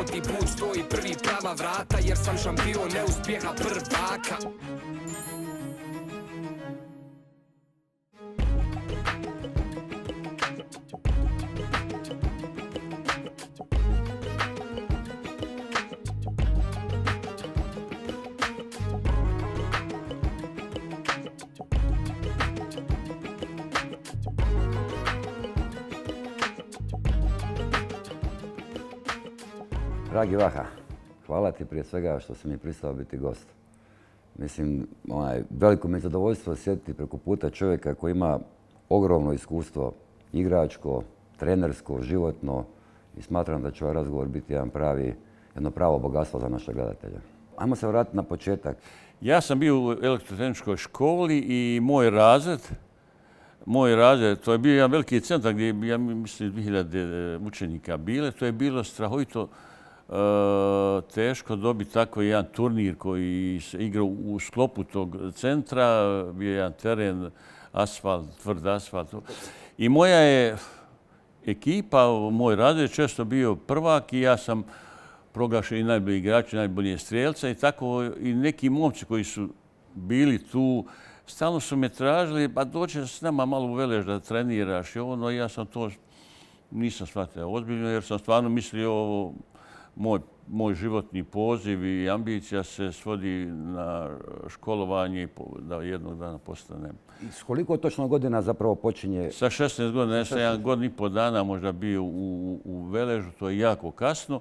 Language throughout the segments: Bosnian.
Svaki put stoji prvi prava vrata, jer sam šampion neuspjeha prvaka. Dragi Vaha, hvala ti prije svega što si mi pristao biti gost. Mislim, veliko mi je zadovoljstvo sjediti preko puta čovjeka koji ima ogromno iskustvo igračko, trenersko, životno i smatram da će ovaj razgovor biti jedno pravo bogatstvo za naše gledatelje. Ajmo se vratiti na početak. Ja sam bio u elektrotehničkoj školi i moj razred, to je bio jedan veliki centar gdje je, ja mislim, 2000 učenika bile. To je bilo strahovito teško dobiti tako jedan turnir koji se igrao u sklopu tog centra. Bio je jedan teren, asfalt, tvrd asfalt. I moja je ekipa, moj razred, često bio prvak i ja sam proglašen i najbolji igrač, najbolji strelca i tako i neki momci koji su bili tu stalno su me tražili, pa dođe s nama malo u Velež da treniraš i ono, ja sam to nisam shvatio ozbiljno jer sam stvarno mislio moj životni poziv i ambicija se svodi na školovanje i da jednog dana postanem. I s koliko točno godina zapravo počinje? Sa 16 godina, ja sam 1 godinu i pol dana možda bio u Veležu, to je jako kasno.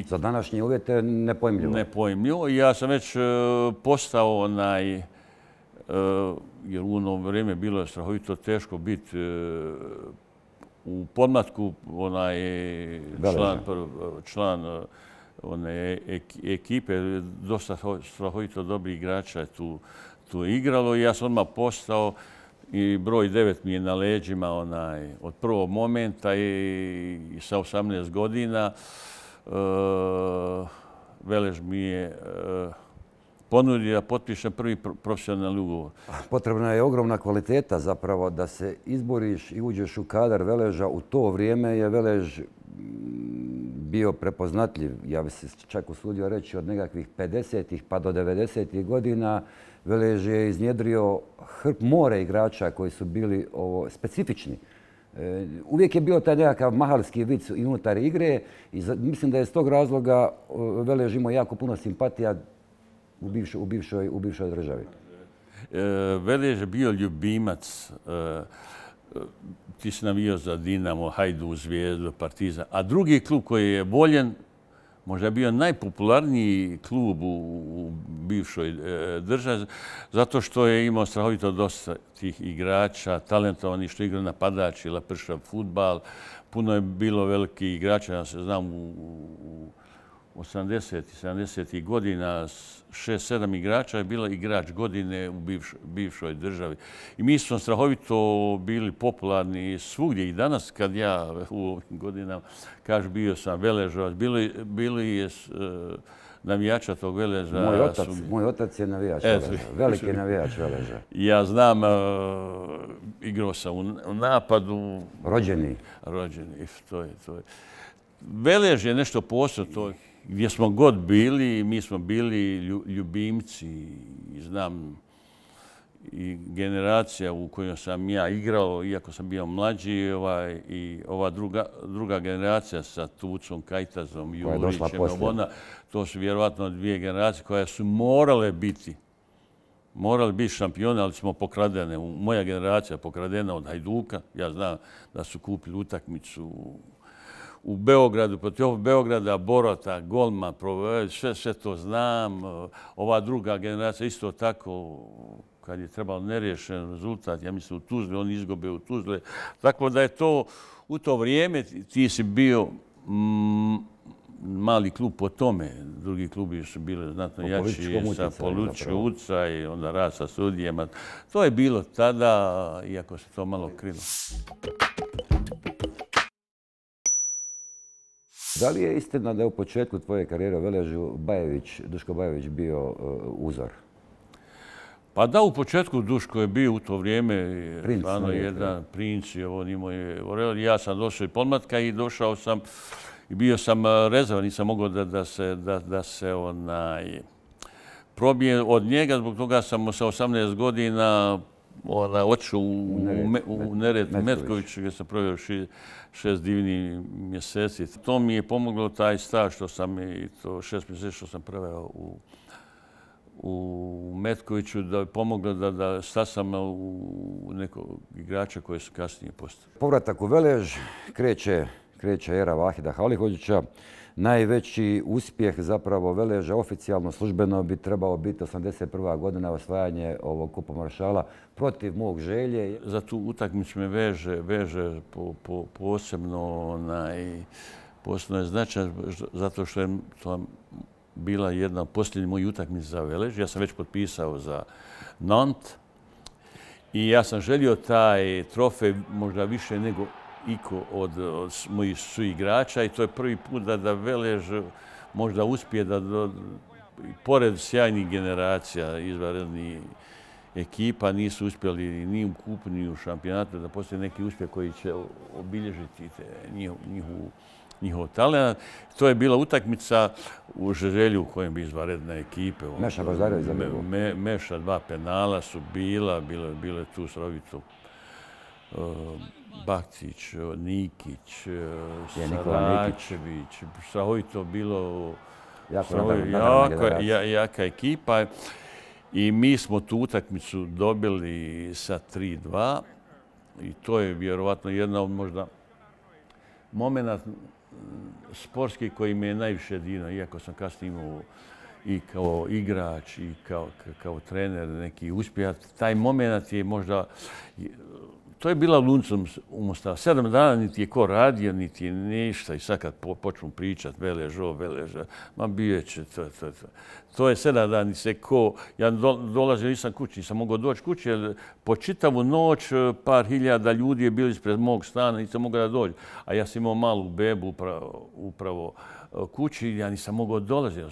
Za današnje uvjete nepojmljivo. Nepojmljivo. Ja sam već postao jer u ono vrijeme bilo je strahovito teško biti u podmlatku član one ekipe. Dosta strahovito dobrih igrača je tu igralo i ja sam odmah postao i broj 9 mi je na leđima od prvog momenta i sa 18 godina. Velež mi je ponudio da potpišem prvi profesionalni ugovor. Potrebna je ogromna kvaliteta zapravo da se izboriš i uđeš u kadar Veleža. U to vrijeme je Velež bio prepoznatljiv, ja bi se čak usudio reći od nekakvih 50-ih pa do 90-ih godina. Velež je iznjedrio more igrača koji su bili specifični. Uvijek je bio taj nekakav mahalski vic i unutar igre i mislim da je s tog razloga Velež imao jako puno simpatija u bivšoj državi. Velež je bio ljubimac. Ti si navijao za Dinamo, Hajduk, Zvijezdu, Partizan. A drugi klub koji je voljen, možda je bio najpopularniji klub u bivšoj državi, zato što je imao strahovito dosta tih igrača, talentovani što igraju napadač ili pršav fudbal. Puno je bilo velikih igrača, ja se znam u 80. i 70. godina 6-7 igrača je bila igrač godine u bivšoj državi. I mi smo strahovito bili popularni svugdje i danas kad ja u ovim godinama kažu bio sam Veležovac, bili je navijača tog Veleža. Moj otac je navijač Veleža, veliki navijač Veleža. Ja znam, igrao sam u napadu. Rođeni. To je. Velež je nešto posebno, gdje smo god bili, mi smo bili ljubimci i znam i generacija u kojoj sam ja igrao, iako sam bio mlađi, i ova druga generacija sa Tucom, Kajtazom, Jurićem, to su vjerovatno 2 generacije koje su morali biti šampioni, ali smo pokradene. Moja generacija pokradena od Hajduka. Ja znam da su kupili utakmicu u Beogradu, protiv Beograda, Borota, Golma, sve to znam. Ova druga generacija isto tako, kad je trebalo neriješen rezultat, ja mislim u Tuzli, oni izgube u Tuzle. Tako da je to, u to vrijeme ti si bio mali klub po tome. Drugi klubi su bili znatno jači sa političkom utjecaj, onda rad sa sudijama. To je bilo tada, iako se to malo krilo. Da li je istina da je u početku tvoje karijere u Veležu Duško Bajević bio uzor? Pa da, u početku Duško je bio u to vrijeme jedan princ. Ja sam došao iz podmlatka i došao sam i bio sam rezervan, nisam mogao da se probije od njega, zbog toga sam sa 18 godina otišao u Neretvu Metković, gdje sam proveo 6 divnih mjeseci. To mi je pomoglo taj staž što sam i to 6 mjeseci što sam proveo u Metkoviću, da je pomoglo da stasam u nekog igrača koji su kasnije postali. Povratak u Velež, kreće era Vahida Halihođića. Najveći uspjeh zapravo Veleža oficijalno, službeno bi trebao biti 81. godina osvajanje ovog Kupa Maršala protiv mog Želje. Za tu utakmicu me veže posebno je značaj zato što je to bila jedna posljednja moja utakmica za Velež. Ja sam već potpisao za Nantes i ja sam želio taj trofej možda više nego iko od mojih suigrača i to je prvi put da Velež možda uspije da pored sjajnih generacija izvanrednih ekipa nisu uspjeli ni u kupu ni u šampionatu da postoji neki uspjeh koji će obilježiti njihov talent. To je bila utakmica u Želju u kojem bi izvanredne ekipe. Meša Baždarević za Meša, 2 penala su bilo je tu srovito Bakcić, Nikić, Saračević, strahovito bilo jaka ekipa i mi smo tu utakmicu dobili sa 3-2 i to je vjerovatno jedna od možda momenta sportski koji me je najviše dirnuo, iako sam kasnije imao i kao igrač i kao trener neki uspjeh. Taj moment je možda... To je bila luncom u Mostaru. 7 dana niti je ko radio, niti je ništa. I sad kad počnu pričat Velež, ma bio će to. To je 7 dana, niti se ko... Ja dolazio, nisam kući, nisam mogao doći kući, jer po čitavu noć par hiljada ljudi je bilo ispred mog stana, nisam mogao da dođe. A ja sam imao malu bebu upravo kući, ja nisam mogao dolaziti.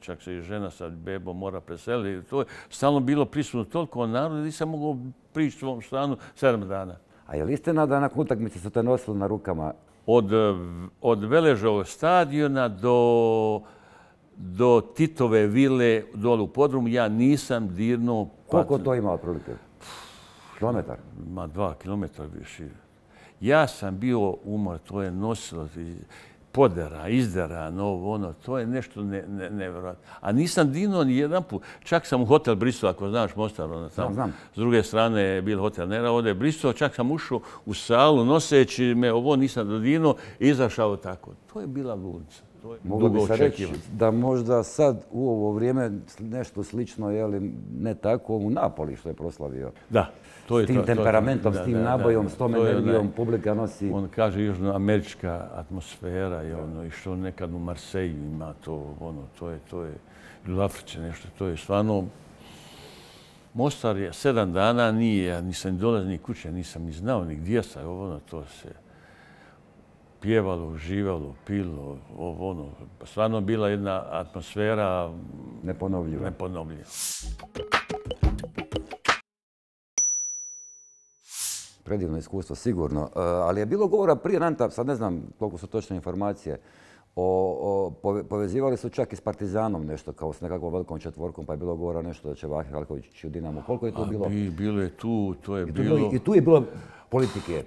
Čak se i žena sa bebom mora preseliti. To je stalno bilo prisutno toliko naroda, nisam mogao prići svom stanu 7 dana. A je li istina da nakon utakmice su te nosili na rukama? Od Veležovog stadiona do Titove vile dole u podrumu ja nisam dirnuo... Koliko to ima otprilike? Kilometar? Ma 2 kilometra više. Ja sam bio umor, to je nosilo podera, izdera, to je nešto nevjerojatno. A nisam dinuo ni jedan put. Čak sam u hotel Bristol, ako znaš Mostar, znam. S druge strane je bil hotel Nera, ovdje je Bristol, čak sam ušao u salu noseći me, ovo nisam dodinuo i izašao tako. To je bila lunca. Moglo bi se reći da možda sad u ovo vrijeme nešto slično, ne tako, u Napoli što je proslavio. Da. S tim temperamentom, s tim nabojom, s tom energijom publika nosi... On kaže južnoamerička atmosfera i što nekad u Marseille ima to je u Africi nešto, to je stvarno... Mostar je 7 dana nije, nisam ni dolazio ni kuće, nisam ni znao ni gdje sam, to se pjevalo, uživalo, pilo, stvarno bila jedna atmosfera... Neponovljiva. Predivno iskustvo, sigurno. Ali je bilo govora prije Nanta, sad ne znam koliko su točne informacije, povezivali su čak i s Partizanom nešto, kao s nekakvom velikom četvorkom, pa je bilo govora nešto da će Vahid Halihođić u Dinamo. Koliko je to bilo? Bilo je tu, to je bilo... I tu je bilo politike?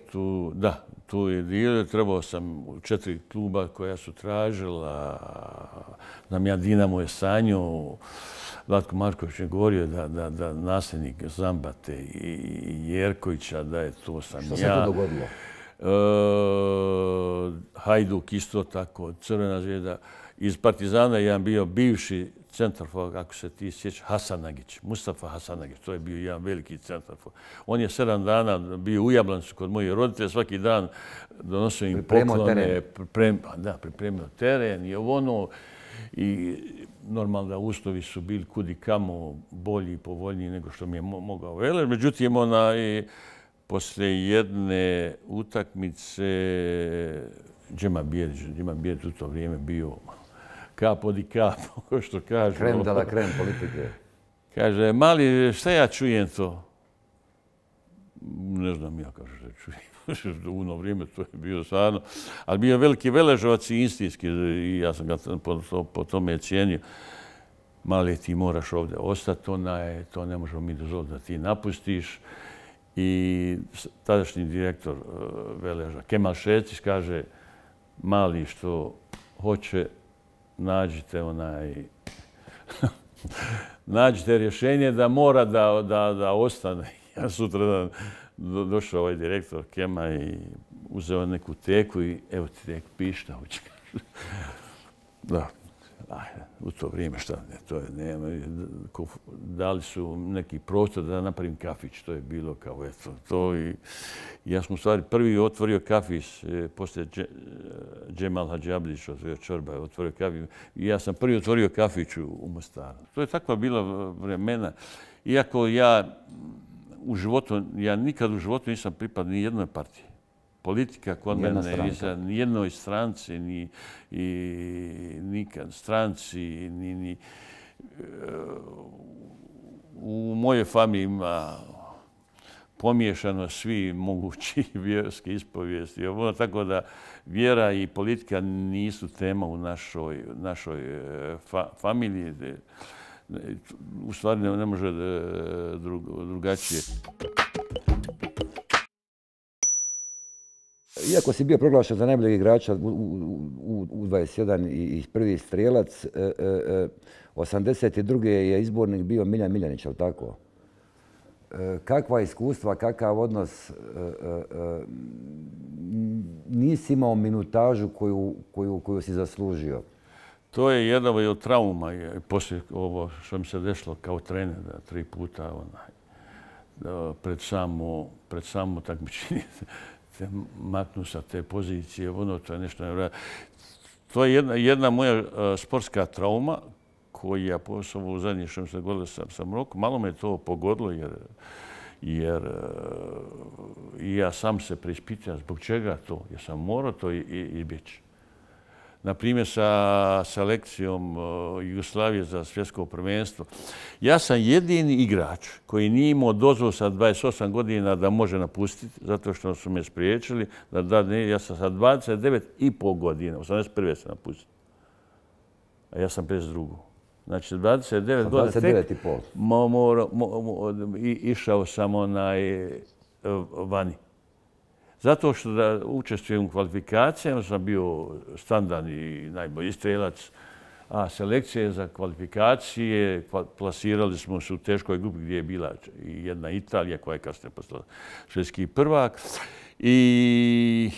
Da, tu je bilo. Trebao sam u 4 kluba koja su tražila. Znam ja, Dinamo je sanjao. Vlatko Marković je govorio da nasljednik Zambate i Jerkovića, da je to sam ja. Što se to dogodilo? Hajduk isto tako, Crvena zvijezda. Iz Partizana jedan bio bivši centarfor, ako se ti sjeća, Hasanagić, Mustafa Hasanagić. To je bio jedan veliki centarfor. On je 7 dana bio u Jablancu kod mojih roditelja, svaki dan donosio im poklone. Pripremio teren i i normalno da uslovi su bili kudi kamo bolji i povoljniji nego što mi je mogao Velež. Međutim, poslije jedne utakmice Džema Bijedić u to vrijeme bio kap od i kap, što kaže. Krem de la krem politike. Kaže, mali, šta ja čujem to? Ne znam ja kako reći. U ono vrijeme to je bio stvarno. Ali bio veliki veležovac i istinski i ja sam ga po tome cijenio. Mali, ti moraš ovdje ostati, to ne možemo mi dozvoliti da ti napustiš. I tadašnji direktor veleža Kemal Šecić kaže: Mali, što hoće, nađite rješenje da mora da ostane. Ja sutra došao ovaj direktor Kema i uzeo neku teku i evo ti tek piši šta hoće. Da, u to vrijeme šta ne, to je nema. Dali su neki prostor da napravim kafić, to je bilo kao eto to i ja sam u stvari prvi otvorio kafić, poslije Džemal Hadžiabdić otvorio Čorba, otvorio kafić i ja sam prvi otvorio kafić u Mostaru. To je takva bila vremena. Iako ja nikad u životu nisam pripadao ni jednoj partiji. Politika kod mene ni jednoj stranci, nikad stranci, ni u mojoj familiji ima pomiješano svi mogući vjerski ispovijesti. Tako da vjera i politika nisu tema u našoj familiji. U stvari ne može drugačije. Iako si bio proglašen za najboljeg igrača u 21 i prvi strijelac, 82. je izbornik bio Miljan Miljanić, ali tako? Kakva iskustva, kakav odnos, nisi imao minutažu koju si zaslužio? To je jedna od trauma. Poslije ovo što mi se desilo kao trener, 3 puta pred samo takmičenje maknu sa te pozicije, to je nešto nevjerojatno. To je jedna moja sportska trauma koja posebno u zadnje što mi se dogodilo sa Marokom. Malo me to pogodilo jer i ja sam se preispitao zbog čega to. Ja sam morao to izbjeći. Na primjer, sa selekcijom Jugoslavije za svjetsko prvenstvo. Ja sam jedini igrač koji nije imao dozvolu sa 28 godina da može napustiti, zato što su me spriječili. Ja sam sa 29,5 godina, 81. sam napustio. A ja sam 52. Znači, 29 godina tek išao sam vani. Zato što da učestvujem u kvalifikacijama, sam bio standardni najbolji strijelac, a selekcije za kvalifikacije plasirali smo se u teškoj grupi gdje je bila jedna Italija koja je kasnije postala svjetski prvak. I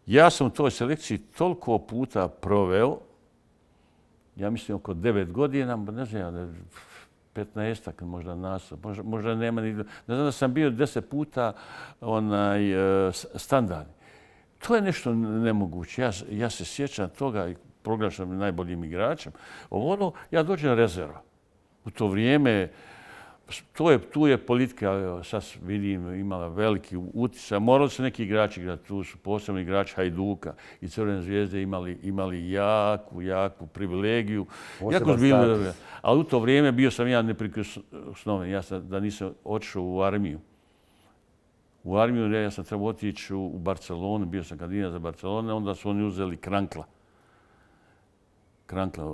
ja sam u toj selekciji toliko puta proveo, ja mislim oko 9 godina, ne znam, 15-ak možda nastup, možda nema ni... Ne znam da sam bio 10 puta standardni. To je nešto nemoguće. Ja se sjećam toga i proglašam najboljim igračem. Ja dođem rezerva. U to vrijeme, tu je politika, sad vidim, imala veliki utisak. Morali su neki igrači igrati, tu su posebno igrači Hajduka i Crvene zvijezde imali jaku privilegiju. Ali u to vrijeme bio sam ja neprikosnoven. Da nisam otišao u armiju. U armiju ja sam trebao otići u Barcelonu, bio sam kandidat za Barcelonu, onda su oni uzeli Krankla,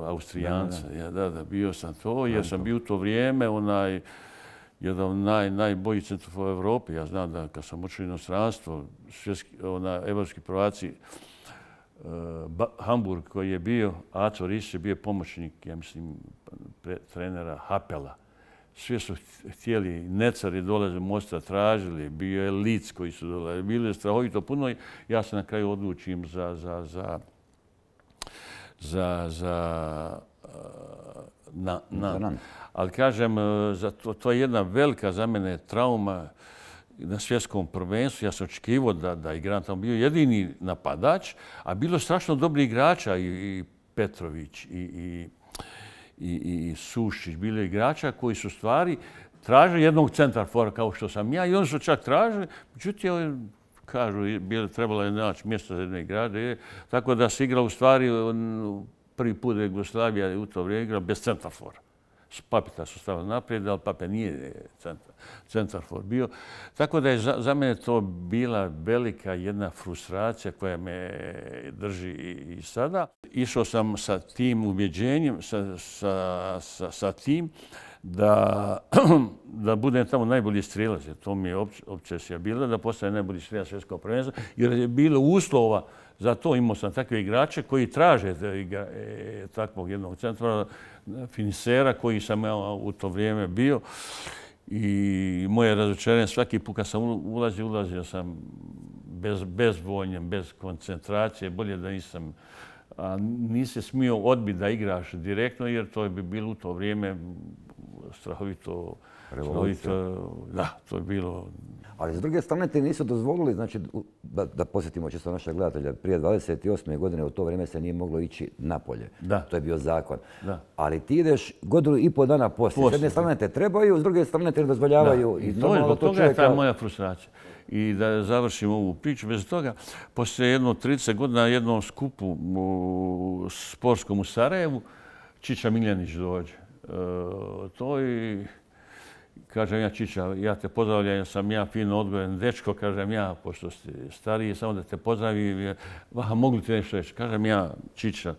Austrijanca. Da, bio sam to, jer sam bio u to vrijeme jedan od najboljih centrova u Evropi. Ja znam da kad sam otišao u inostranstvo, evropski prvaci, Hamburg koji je bio, Aco Riš je bio pomoćnik, ja mislim, trenera Hapela. Svi su htjeli, Necari dolaze Mosta tražili, bio je Lic koji su dolazili, bilo je strahovito puno i ja se na kraju odlučim ali kažem, to je jedna velika za mene trauma na svjetskom prvenstvu. Ja sam očekivao da igram tamo, bio jedini napadač, a bilo strašno dobri igrača i Petrović i Sušić, bilo igrača koji su stvari tražili jednog centarfora kao što sam ja i oni su čak tražili, međutim, kažu, trebalo je naći mjesto za jedne igrače, tako da se igra u stvari prvi put Jugoslavija u to vrijeme igra bez centarfora. Papita su stavili naprijed, ali Pape nije centarfor bio. Tako da je za mene to bila velika jedna frustracija koja me drži i sada. Išao sam sa tim ubjeđenjem, sa tim da budem tamo najbolji strijelac. To mi je obsesija bila, da postane najbolji strijelac svjetskog prvenstva, jer je bilo uslova za to. Imao sam takve igrače koji traže takvog jednog centra, finisera koji sam ja u to vrijeme bio. I moje razočarenje, svaki put kad sam ulazio sam bezvoljnjem, bez koncentracije, bolje da nisam. Nisi smio odbiti da igraš direktno, jer to bi bilo u to vrijeme strahovito. Da, to je bilo. Ali s druge strane ti nisu dozvolili, znači, da posjetimo čisto naša gledatelja, prije 28. godine u to vrijeme se nije moglo ići napolje. Da. To je bio zakon. Da. Ali ti ideš godinu i pol dana poslije. S jedne strane te trebaju, s druge strane te ne dozvoljavaju. I zbog toga je ta moja frustracija. I da završim ovu priču, bez toga, poslije jedno 30 godina na jednom skupu sportskom u Sarajevu, Čiča Miljanić dođe. To i kažem ja, Čiča, ja te pozdravljam, jer sam ja fino odgojen dečko, kažem ja, pošto ste stariji, samo da te pozdravim, mogu ti nešto reći? Kažem ja, Čiča,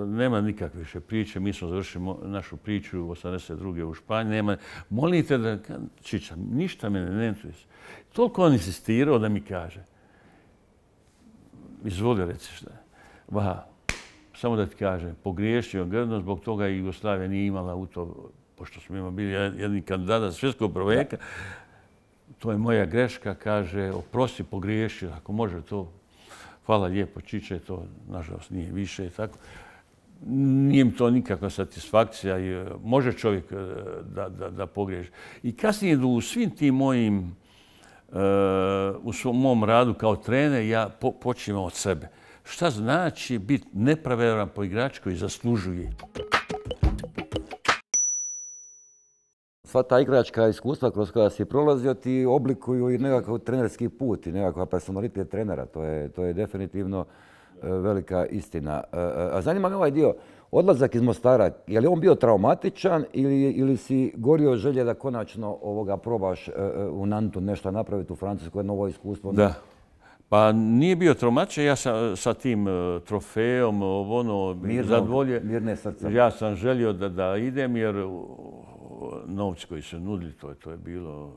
nema nikakve više priče, mi smo završili našu priču u 82. u Španiji, molite da, Čiča, ništa mene ne interesuje. Toliko on insistirao da mi kaže, izvoli reci šta je. Samo da ti kažem, pogriješio grdno, zbog toga i Jugoslavija nije imala u to, pošto smo bili jedni kandidata za svjetskog prvaka. To je moja greška, kaže, oprosti, pogriješio, ako može to. Hvala lijepo, Čiče, to nažalost nije više i tako. Nije mi to nikakva satisfakcija i može čovjek da pogriješi. I kasnije u svim tim mojim, u mom radu kao trener, ja počinjem od sebe. Šta znači biti nepravedan po igrač koji zaslužuje? Sva ta igračka iskustva kroz koja si prolazio ti oblikuju i nekakav trenerski put i nekakav personalitet trenera. To je definitivno velika istina. A zanima me ovaj dio, odlazak iz Mostara, je li on bio traumatičan ili si gorio želje da konačno probaš u Nantu nešto napraviti u Francuskoj, novo iskustvo? Da. Pa nije bio traumatičan, ja sa tim trofejom, zadovolje. Mirne srce. Ja sam želio da idem jer novci koji su nudili, to je bilo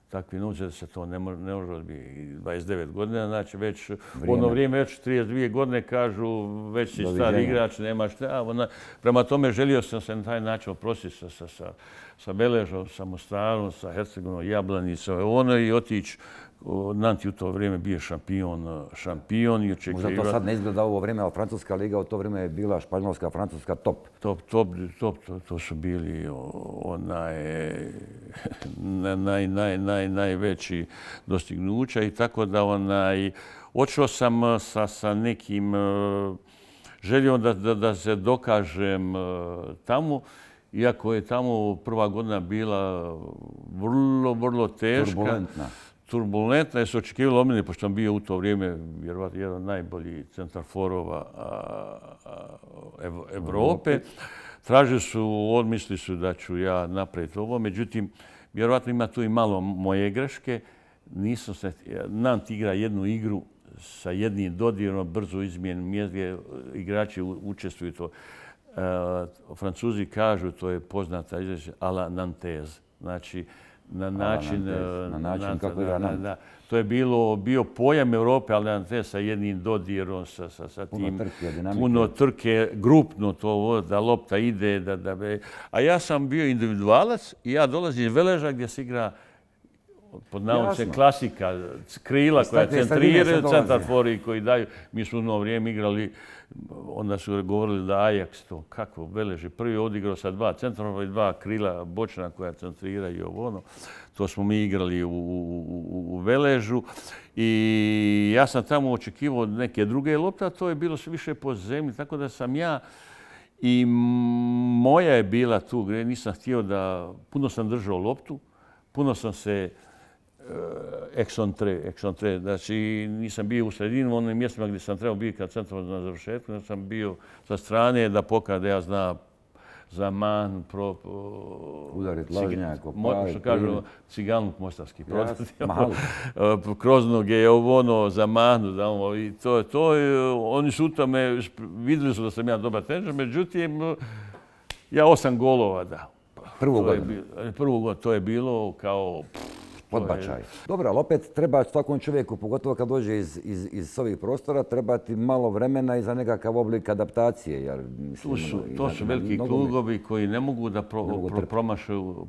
takvi novci da se to ne može odbiti. 29 godina, znači već u ono vrijeme, već 32 godine kažu već si stari igrač, nemaš šta. Prema tome želio sam se na taj način oprostiti sa Beležom, sa Mostarom, sa Hercegovinom, Jablanicom i otići. Nanti u to vrijeme bio šampion i očekivao. Možda to sad ne izgleda ovo vrijeme, ali Francuska liga u to vrijeme je bila Španjolska, Francuska top. To su bili najveći dostignuća i tako da odšao sam sa nekim željom da se dokažem tamo, iako je tamo prva godina bila vrlo teška. Turbulentna je se očekivalo od mene, pošto sam bio u to vrijeme vjerovatno jedan najbolji centarforova Evrope. Tražili su, odmislili su da ću ja napraviti ovo, međutim, vjerovatno ima tu i malo moje greške. Nant igra jednu igru sa jednim dodirom, brzo izmijenim mjezge, igrači učestvuju to. Francuzi kažu, to je poznata izreća, a la Nantaise. Znači, na način kako igra Nant. To je bio pojam Evrope, ali Nantes sa jednim dodirom, sa tim puno trke, grupno to, da lopta ide. A ja sam bio individualac i ja dolazim iz Veleža gdje se igra pod navodnicima klasika, krila koja centriraju, centarfori koji daju. Mi smo u ono vrijeme igrali, onda su govorili da Ajax, to kako Velež prvi odigrao sa 2 centarfora i 2 krila bočna koja centriraju ono. To smo mi igrali u Veležu i ja sam tamo očekivao neke druge lopte, a to je bilo sve više po zemlji, tako da sam ja i moja je bila tu, nisam htio da, puno sam držao loptu, puno sam se eksontre, znači nisam bio u sredinu, u onim mjestima gdje sam trebao biti kad centar na završetku, sam bio sa strane da pokaže da ja znam Zaman, udarit lažnjak, što kažu, ciganluk mostarski. Kroznog je ono, Zamanu, i to oni su u tome, vidjeli su da sam ja dobar teničar, međutim, ja 8 golova dao. Prvu godinu. To je bilo kao... Odbačaj. Dobro, ali opet treba svakom čovjeku, pogotovo kad dođe iz ovih prostora, treba ti malo vremena i za nekakav oblik adaptacije. To su veliki klubovi koji ne mogu da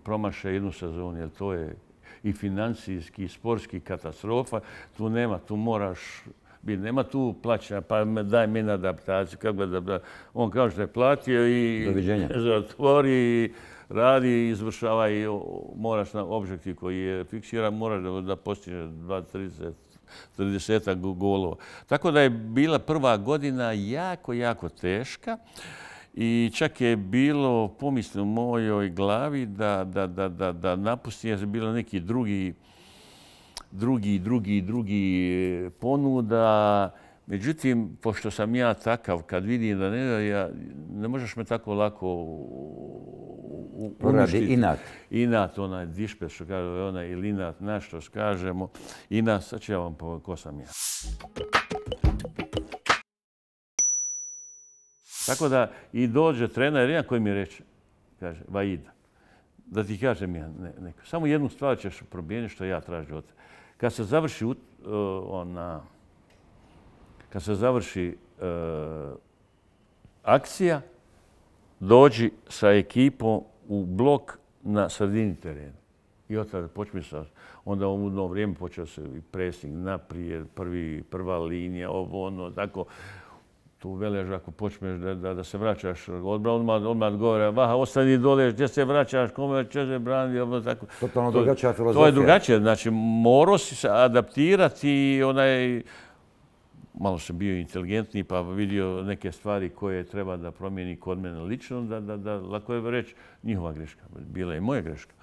promaše jednu sezonu, jer to je i financijski, i sportski katastrofa. Tu nema, tu moraš... Nema tu plaćanja, pa daj mi na adaptaciju. On kaže da je platio i zatvori, radi, izvršava i moraš na objektiv koji je fiksiran, moraš da postiže 30 golova. Tako da je bila prva godina jako, jako teška i čak je bilo pomisli u mojoj glavi da napustim, jer je bilo neki drugi ponuda. Međutim, pošto sam ja takav, kad vidim da ne možeš me tako lako uništiti. Inat. Inat, onaj dišpet, što kaže, onaj ili inat, što kažemo. Inat, sad ću ja vam povedati ko sam ja. Tako da i dođe trener, jedan koji mi reče, kaže, Vaida, da ti kažem ja neko. Samo jednu stvar ćeš promijeniti što ja tražim od tebe. Kad se završi akcija, dođi sa ekipom u blok na sredini terena. I od tada počne sa... Onda u ono vrijeme počeo se i pressing naprijed, prva linija, ovo, ono, tako. Tu velež, ako počneš da se vraćaš odmah govore, Vaha, ostani dole, gdje se vraćaš, kome će se braniti, ovo tako. Totalno drugačija filozofija. To je drugačije, znači morao si se adaptirati i malo sam bio inteligentniji pa vidio neke stvari koje treba da promijeni kod mene lično, da lako je reći njihova greška, bila je moja greška.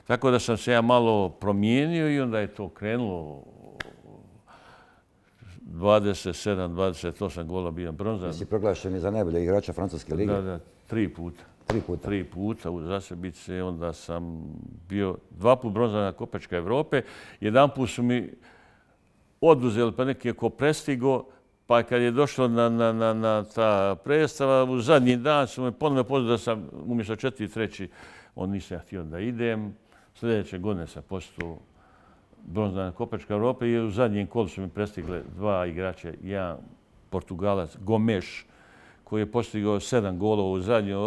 Tako da sam se ja malo promijenio i onda je to krenulo 27-28 gola bio bronzan. Jesi proglašen i za najbolje igrača Francuske lige? Da, 3 puta. 3 puta? 3 puta u Zasebice. Onda sam bio 2 puta bronzana Kopačka Evrope. Jedan put su mi oduzeli pa neki ko prestigo, pa kad je došlo na ta predstava, u zadnji dan su me ponovno pozvali da sam umjesto 4-3, on nisam htio da idem. Sljedeće godine sam postao bronzana Kopačka Evrope i u zadnjem kolu su mi prestigle 2 igrača, jedan Portugalac, Gomes, koji je postigao 7 golova u zadnjem,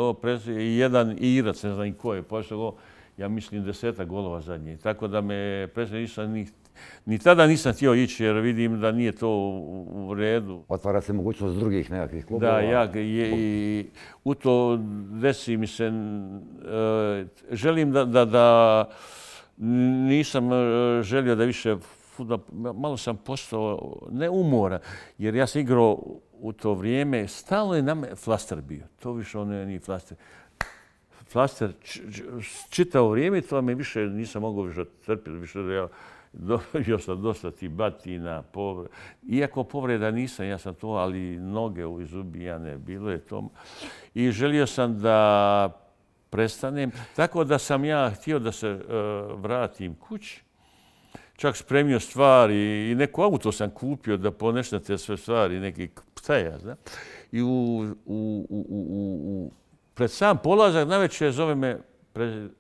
i jedan Irac, ne znam ko je postigao, ja mislim 10 golova zadnje. Tako da me ni tada nisam htio ići jer vidim da nije to u redu. Otvara se mogućnost drugih nekakvih klubova. Da, i u to desi mi se, želim da nisam želio da više fudbal, malo sam postao neumoran, jer ja sam igrao u to vrijeme, stalno je na me flaster bio. To više ono nije flaster. Flaster čitao vrijeme, to me više nisam mogao više trpiti, više da ja dobio sam dosta ti batina, povreda. Iako povreda nisam, ja sam to, ali noge izubijane, bilo je to. I želio sam da prestanem. Tako da sam ja htio da se vratim kući. Čak spremio stvari i neko auto sam kupio da ponešem te sve stvari, neki ptaja, zna. I pred sam polazak navečer zove me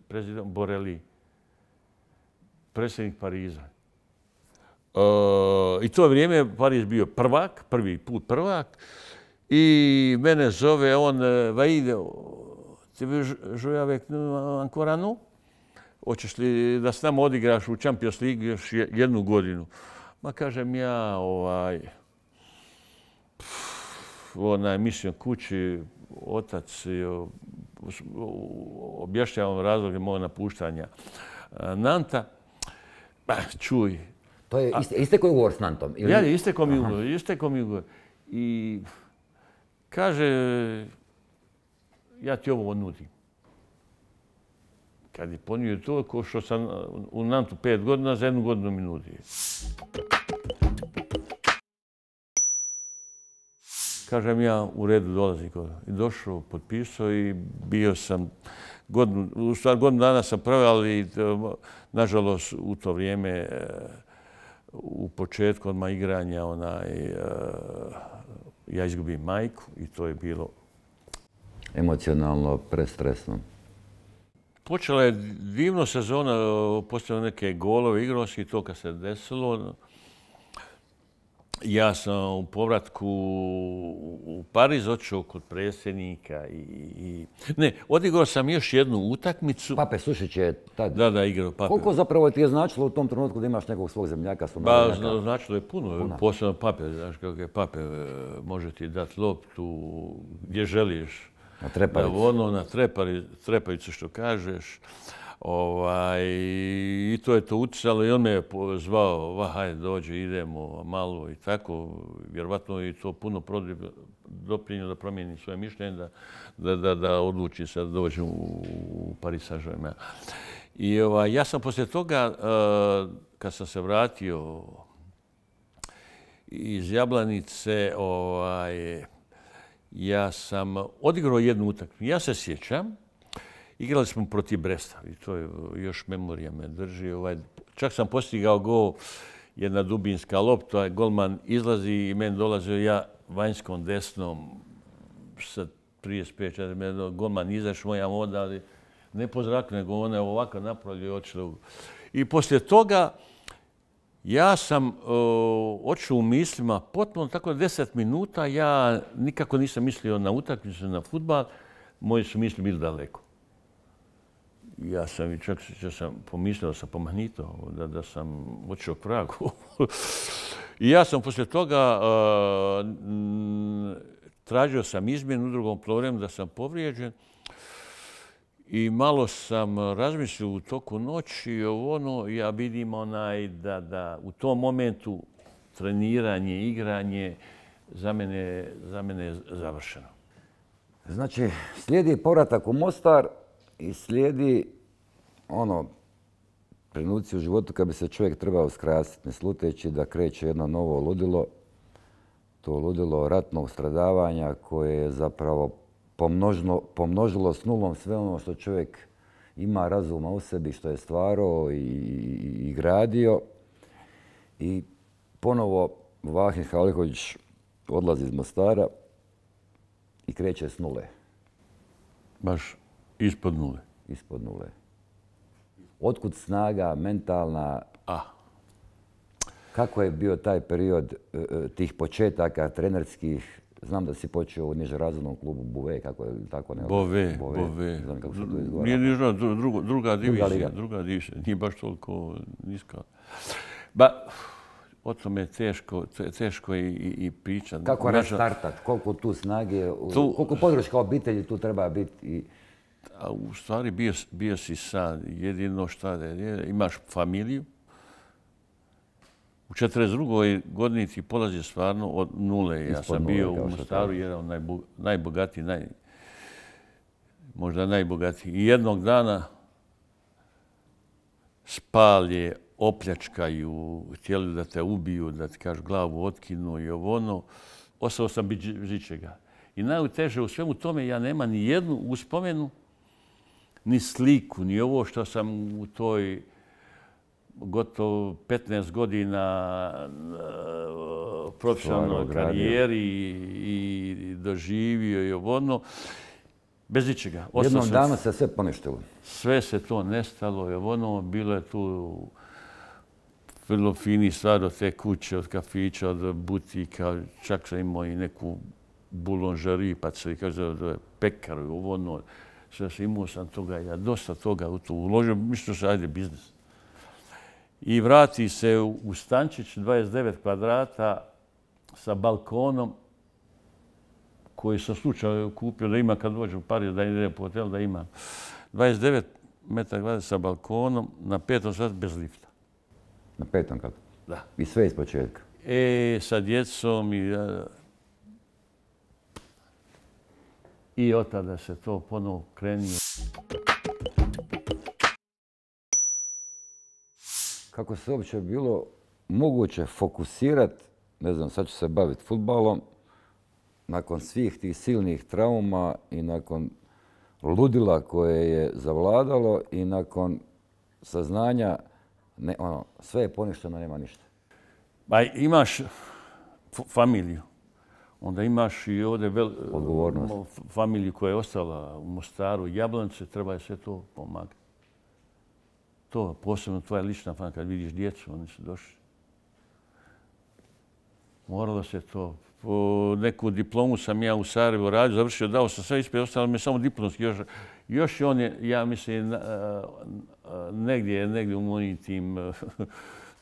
prezident Borelli, predsjednik Pariza. I to vrijeme Pariz bio prvak, prvi put prvak. I mene zove on, Vaide, ti veux jouer avec nous encore un an? Hoćeš li da s nama odigraš u Champions League još jednu godinu? Ma kažem ja, mislim kući, otac, objašnjavam razloge mojeg napuštanja Nanta. Čuj. To je istekao ugovor s Nantom? Ja, istekao mi ugovor. I kaže, ja ti ovo nudim. Kad je ponio to, ko što sam u Nantu 5 godina, za 1 godinu mi nudi. kažem ja, u redu dolazim. I došao, potpisao i bio sam godinu dana sam proveo, ali nažalost u to vrijeme u početku odmah igranja ja izgubim majku i to je bilo emocionalno prestresno. Počela je divno sezona, postavio neke golove, igrao si i to kad se desilo. Ja sam u povratku u Pariz otišao kod predsjednika Ne, odigrao sam još jednu utakmicu. Pape Sušić je tad. Da, igrao Pape. Koliko zapravo ti je značilo u tom trenutku da imaš nekog svog zemljaka? Značilo je puno. Posebno Pape, znaš kako je Pape, može ti dati loptu gdje želiš. Na trepavicu. Na trepavicu što kažeš. I to je to utjecalo i on me je zvao, hajde dođe, idemo malo i tako. Vjerovatno je to puno doprinio da promijeni svoje mišljenje, da odluči se da dođe u Paris Saint-Germain. I ja sam poslije toga, kad sam se vratio iz Jablanice, ja sam odigrao jednu utakmicu. Ja se sjećam, igrali smo protiv Bresta i to je još memorija me drži. Čak sam postigao gol, jedna dubinska lopta, golman izlazi i meni dolazio ja vanjskom desnom sa 35-40 golman izašao, ja mu odali ne po zraku, nego on je ovako napravio i otišao. I poslije toga ja sam otišao u mislima potpuno tako 10 minuta. Ja nikako nisam mislio na utakmicu, na fudbal. Moji su misli bili daleko. Ja sam i čak sam pomislio da sam pomahnitao, da sam otišao k vragu. I ja sam poslije toga tražio sam izmjenu u drugom polovremenu da sam povrijeđen. I malo sam razmislio u toku noći, ja vidim da u tom momentu treniranje, igranje za mene je završeno. Znači, slijedi povratak u Mostar i slijedi trenuci u životu kad bi se čovjek trebao skrasiti, ne sluteći da kreće jedno novo ludilo. To ludilo ratnog stradavanja koje je zapravo pomnožilo s nulom sve ono što čovjek ima razuma u sebi, što je stvarao i gradio. I ponovo Vahid Halilović odlazi iz Mostara i kreće s nule. Baš ispod nule. Ispod nule. Otkud snaga mentalna? Kako je bio taj period tih početaka trenerskih? Znam da si počeo u nižerazrednom klubu Bouvet, kako je tako ne? Bouvet. Znam kako se to izgovara. Nije druga divizija. Nije baš toliko niska. O tome je teško i pričati. Kako restartat? Koliko tu snage, koliko podrška obitelji tu treba biti? U stvari bio si sad. Jedino šta je, imaš familiju. U 42. godini ti polazi stvarno od nule. Ja sam bio u Mostaru jedan najbogatiji, možda najbogatiji. I jednog dana spalje, opljačkaju, htjeli da te ubiju, da ti kažu glavu otkinu i ostao sam bez ičega. I najteže u svemu tome ja nema ni jednu uspomenu, ni sliku, ni ovo što sam u toj gotovo 15 godina profesionalnoj karijeri i doživio i bez ničega. Jednom danu se sve poništilo. Sve se to nestalo, bilo je tu vrlo fini stvar od te kuće, od kafića, od butika, čak sam imao i neku bulonžeriju, pa se kaže da je pekar, sve sam imao sam toga, ja dosta toga u to uložio, mislio se ajde biznis. I vrati se u stančić 29 kvadrata sa balkonom koji sam slučajno kupio da ima kad dođem u Pariz, da idem po hotelu, da ima 29 metara kvadrata sa balkonom na 5. satu bez lifta. Na 5. katu? Da. I sve iz početka? Sa djecom i od tada se to ponovo krenio. Kako se uopće bilo moguće fokusirati, ne znam, sad ću se baviti fudbalom, nakon svih tih silnih trauma i nakon ludila koje je zavladalo i nakon saznanja, sve je poništeno, nema ništa. Pa imaš familiju, onda imaš i ovdje familiju koja je ostala u Mostaru, Jablanice, treba je sve to pomagati. To posebno tvoja lična familija, kad vidiš djecu, oni su došli. Moralo se to. Neku diplomu sam ja u Sarajevu radio, završio, dao sam sve ispred, ostalo mi samo diplomski. Još on je, ja mislim, negdje u mojim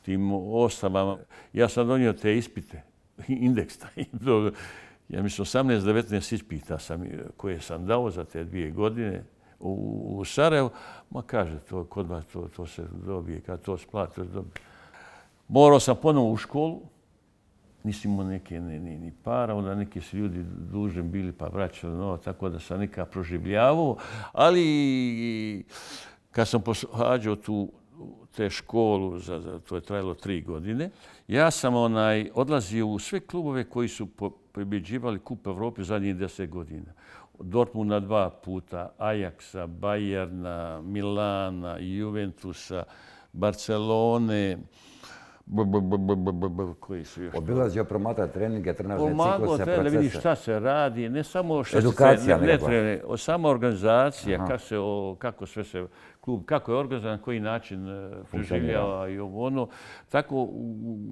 tim ostavama. Ja sam donio te ispite, indeks. Ja mislim, 18-19 ispita koje sam dao za te 2 godine u Sarajevu. Ma kaže, kod vas to se dobije, kad to splati, to se dobije. Morao sam ponovo u školu. Nisi imao neke ni para, onda neki su ljudi dužni bili pa vraćali novac, tako da sam nekako proživljavao. Ali kad sam pohađao te školu, to je trajalo 3 godine, ja sam odlazio u sve klubove koji su pobjeđivali Kup Evrope u zadnjih 10 godina. Dortmunda 2 puta, Ajaxa, Bayerna, Milana, Juventusa, Barcelone, koji su još... Obilazio promatra treninge, trenažne cikluse, procese. Pomagao da vidiš šta se radi, ne samo što edukacija, se ne trene, sama organizacija, kako sve se klub, kako je organizovan, koji način preživljava i ono. Tako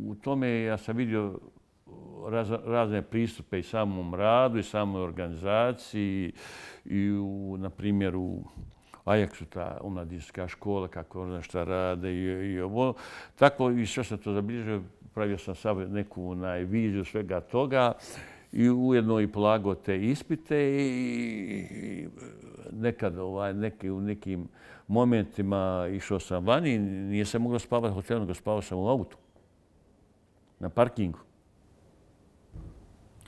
u tome ja sam vidio razne pristupe i samom radu i samoj organizaciji i na primjer u Ajaxu, ta omladinska škola, kako ona šta rade i ovo. Tako i sve sam to zabilježio, pravio sam sad neku viziju svega toga i ujedno i polagao te ispite i nekad u nekim momentima išao sam vani, nije se moglo spavati u hotelu, nego spavao sam u autu, na parkingu.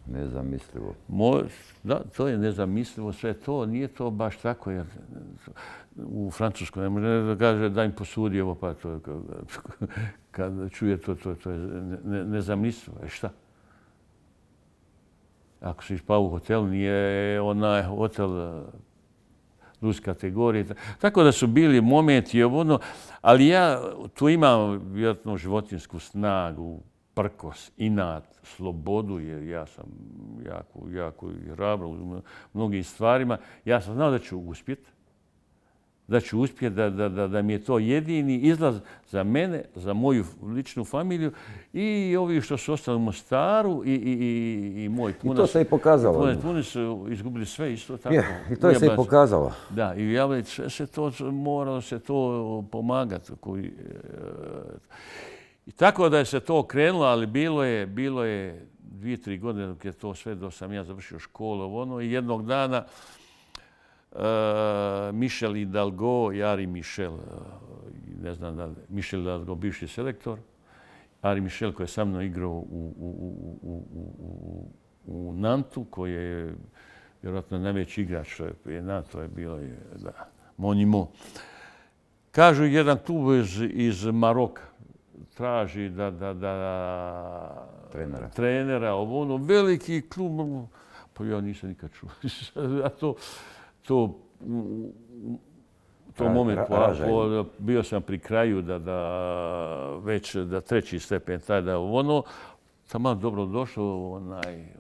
Nezamislivo. Da, to je nezamislivo sve to. Nije to baš tako, jer u Francuskoj ne može da kaže da im posudi ovo, pa to kad čuje to je nezamislivo. Šta? Ako si spao u hotelu, nije onaj hotel plus kategorije. Tako da su bili momenti, ali ja tu imam vjerojatno životinsku snagu, prkos, inat, slobodu, jer ja sam jako hrabro u mnogim stvarima. Ja sam znao da ću uspjeti, da mi je to jedini izlaz za mene, za moju ličnu familiju i ovi što su ostali u Mostaru i moj punac. I to se i pokazalo. Puni su izgubili sve isto tako. I to se i pokazalo. Da, i moralo se to pomagati. I tako da je se to okrenulo, ali bilo je 2-3 godine dok je to sve, dok sam ja završio školu, i jednog dana Michel Hidalgo, Ari Michel, ne znam da li, Michel Hidalgo, bivši selektor, Ari Michel koji je sa mnom igrao u Nantu, koji je vjerojatno najveći igrač što je prije Nantu, je bilo Monimo. Kažu jedan klub iz Maroka traži trenera, veliki klub, pa ja nisam nikad čuo. To moment, bio sam pri kraju već da 3. stepen, tamo dobro došao,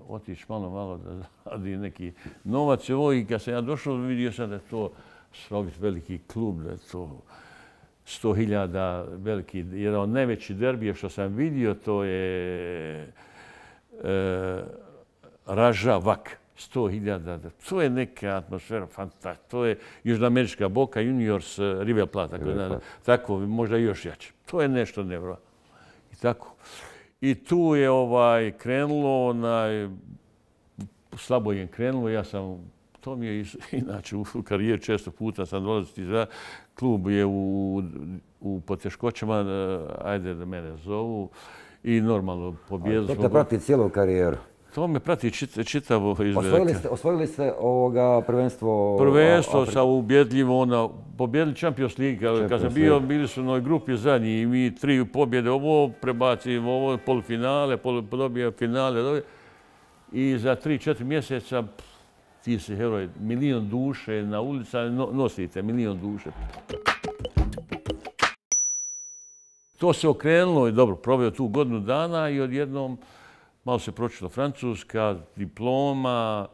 otići malo da radi neki novac. I kad sam ja došao, vidio sam da je to slovit veliki klub, da je to 100.000 veliki, jedan od najvećih derbija što sam vidio, to je Ražavak, 100.000. To je neka atmosfera fantastična. To je južnoamerička Boca Juniors, River Plate, tako, možda još jače. To je nešto nevjerojatno. I tako. I tu je krenulo, slabo je krenulo, ja sam, to mi je inače u karijeri često puta sam dolaziti za klub je u poteškoćama, ajde da mene zovu i normalno pobjedu smo. To te prati cijelu karijeru? To me prati čitavo izgleda. Osvojili ste prvenstvo? Prvenstvo sa ubjedljivo, pobjedili Champions League. Kad sam bili su u onoj grupi zadnji i mi 3 pobjede, ovo prebacimo, ovo polufinale, dobija finale. i za 3-4 mjeseca ti si heroj, 1.000.000 duše na ulici, nosite 1.000.000 duše. To se okrenulo i dobro, proveo tu godinu dana i odjednom malo se pročilo Francuska, diploma.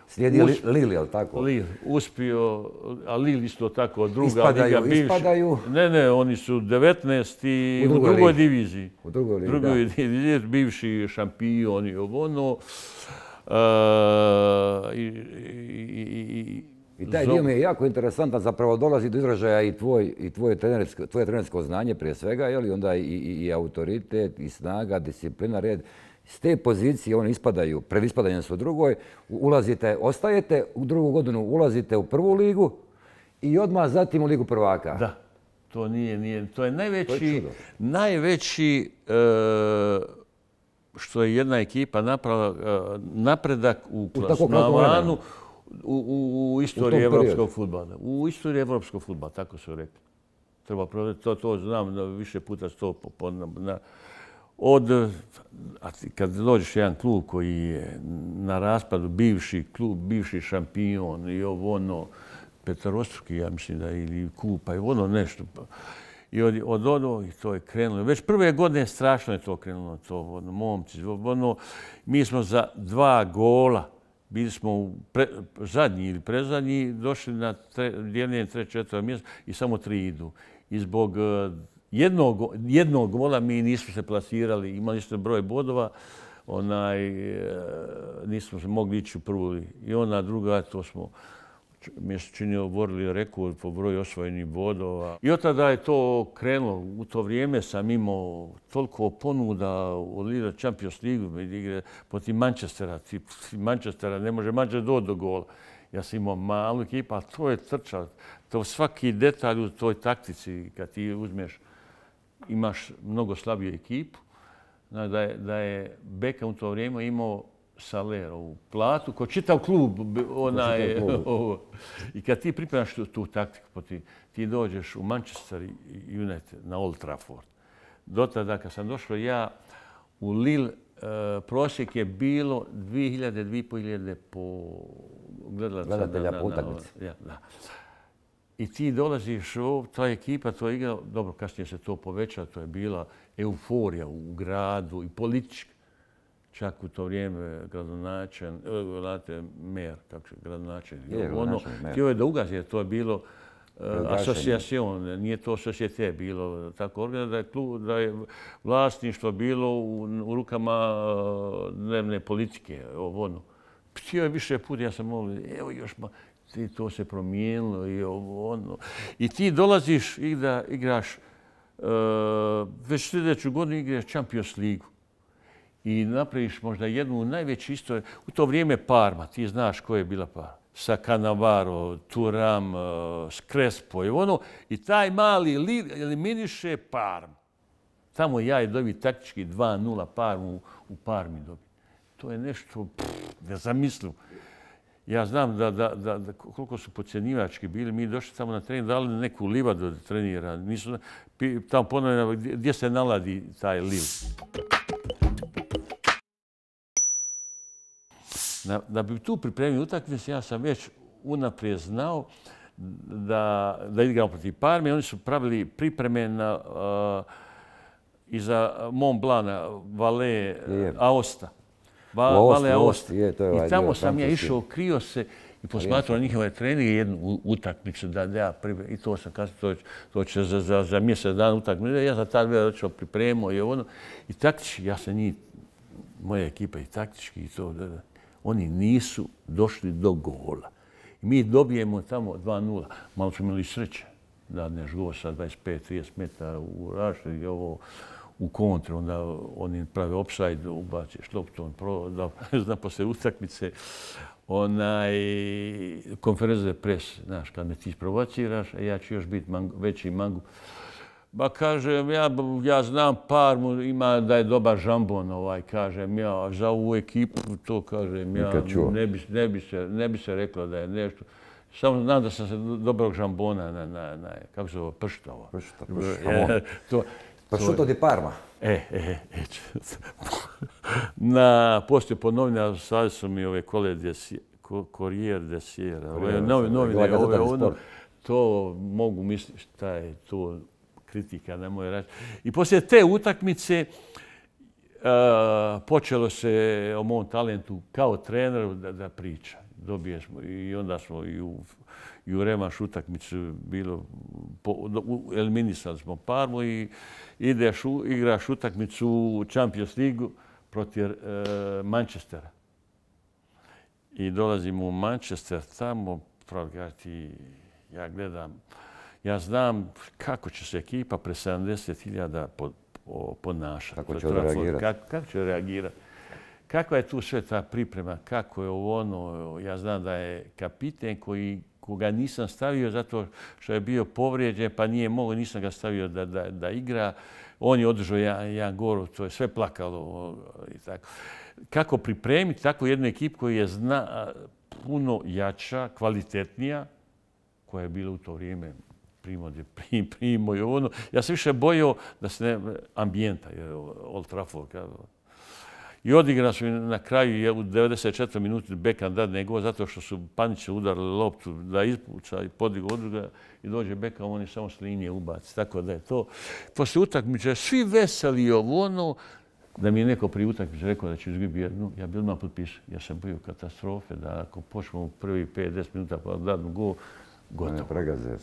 Slijedi Lille, je li tako? Lille, uspio, a Lille isto tako, druga liga bivša. Ispadaju? Ne, oni su 19. u drugoj diviziji. U drugoj ligi, drugoj diviziji, bivši šampion i ono. I taj dio mi je jako interesantan, zapravo dolazi do izražaja i tvoje trenersko znanje prije svega, je li onda i autoritet, i snaga, disciplina, red. S te pozicije oni ispadaju, pred ispadanjem su u drugoj, ulazite, ostajete u drugu godinu, ulazite u prvu ligu i odmah zatim u ligu prvaka. Da, to nije, to je najveći što je jedna ekipa napravila napredak u klasmanu u istoriji evropskog fudbala. U istoriji evropskog fudbala, tako su rekli. Treba provjeriti, to znam, više puta sto kad dođeš jedan klub koji je na raspadu, bivši klub, bivši šampion i ono, peterostruki, ja mislim da ili kupa i ono nešto. I od ono, i to je krenulo. Već prve godine strašno je to krenulo, to momci. Mi smo za 2 gola, bili smo zadnji ili prezadnji, došli na dijeljenje 3-4 mjesta i samo 3 idu. I zbog jednog gola mi nismo se plasirali, imali smo broj bodova, nismo se mogli ići u prvu. I ona druga, to smo mi se činio oborili rekord po broju osvojenih bodova. I od tada je to krenulo. U to vrijeme sam imao toliko ponuda u Liga Champions League igre protiv Manchestera. Manchestera ne može Manchester doći do gola. Ja sam imao malu ekipu, ali to je trča. To svaki detalj u toj taktici, kad ti uzmeš, imaš mnogo slabiju ekipu. Da je Beckham u to vrijeme imao Salerovu platu, ko čitav klub. I kad ti pripremaš tu taktiku, ti dođeš u Manchester United na Old Trafford. Do tada kad sam došao ja u Lille, prosjek je bilo 2.000-2.500 po gledatelja po utakmici. I ti dolaziš, ta ekipa, to je igra, dobro, kasnije se to poveća, to je bila euforija u gradu i politička. Čak u to vrijeme gradonačelnik, htio je da ugasi, to je bilo asocijacion, nije to societe bilo tako organizirano, da je vlasništvo bilo u rukama dnevne politike. Htio je više puta, ja sam molio, evo još to se promijenilo i ono. I ti dolaziš i da igraš, već sljedeću godinu igraš Champions Ligu. I napraviš možda jednu najveću istoriju. U to vrijeme Parma, ti znaš ko je bila Parma. Sa Cannavaro, Thuram, Crespo i ono. I taj mali Lille eliminiše Parmu. Tamo ja je dobio taktički 2-0 Parmu u Parmi dobio. To je nešto nezamislivo. Ja znam da koliko su podcjenjivački bili. Mi došli tamo na trening, dali neku livadu da trenira. Nisu tamo ponovno gdje se naladi taj Lille. Da bi tu pripremio utakmicu, ja sam već unaprijed znao da igramo protiv Parme. Oni su pravili pripreme iza Mont Blana, Valais, Aosta. I tamo sam ja išao, krio se i posmatrao njihove treninge jednu utakmicu da ja pripremim. I to sam kasnije, to će za mjesec dana utakmicu. Ja sam tad već pripremio i ono. I taktički, ja sam njih, moja ekipa i taktički i to. Oni nisu došli do gola. I mi dobijemo tamo 2-0. Malo smo imali sreće da neš gol sa 25-30 metara u raštu i ovo u kontru. Onda oni prave offside, ubaciš loptu, zna posle utakmice. Konferencija pres, znaš, kad me ti isprovociraš, ja ću još biti veći mangu. Ba kažem, ja znam Parmu, ima da je dobar žambon, kažem ja, za ovu ekipu to kažem ja, ne bi se reklo da je nešto. Samo znam da sam se dobrog žambona kako se zove, pršta. Pršuto di Parma. poslije po novinama slali su mi ove Corriere de Sierra, ove novine, to mogu misliti šta je to kritika, ne moje reći. I poslije te utakmice počelo se o mom talentu kao treneru da priča. Dobijemo i onda smo i u revanš utakmicu bilo, eliminisali smo Parmu i igraš utakmicu u Champions Ligu protiv Manchestera. I dolazimo u Manchester, tamo, ja gledam, ja znam kako će se ekipa pre 70.000 ponašati. Kako će reagirati? Kako će reagirati? Kakva je tu sve ta priprema? Kako je ono? Ja znam da je kapiten koga nisam stavio zato što je bio povrijeđen, pa nije mogao, nisam ga stavio da igra. On je održao jedan gol, to je sve plakalo i tako. Kako pripremiti takvu jednu ekipu koja je puno jača, kvalitetnija, koja je bila u to vrijeme Primo i ono. Ja sam više bojao da se ne ambijenta, Old Trafford. I odigrali su na kraju u 94. minuti Beckham dadne gol zato što su panično udarili loptu da ispuca i podigu odruga i dođe Beckham, oni samo s linije ubaci. Tako da je to. Poslije utakmice svi veseli ono, da mi je neko prije utakmice rekao da će izgubiti jednu, ja bi odmah potpisao. Ja sam bio katastrofe da ako počnemo u prvi 5-10 minuta pa dadnu gol, gotovo. Ne pregaze.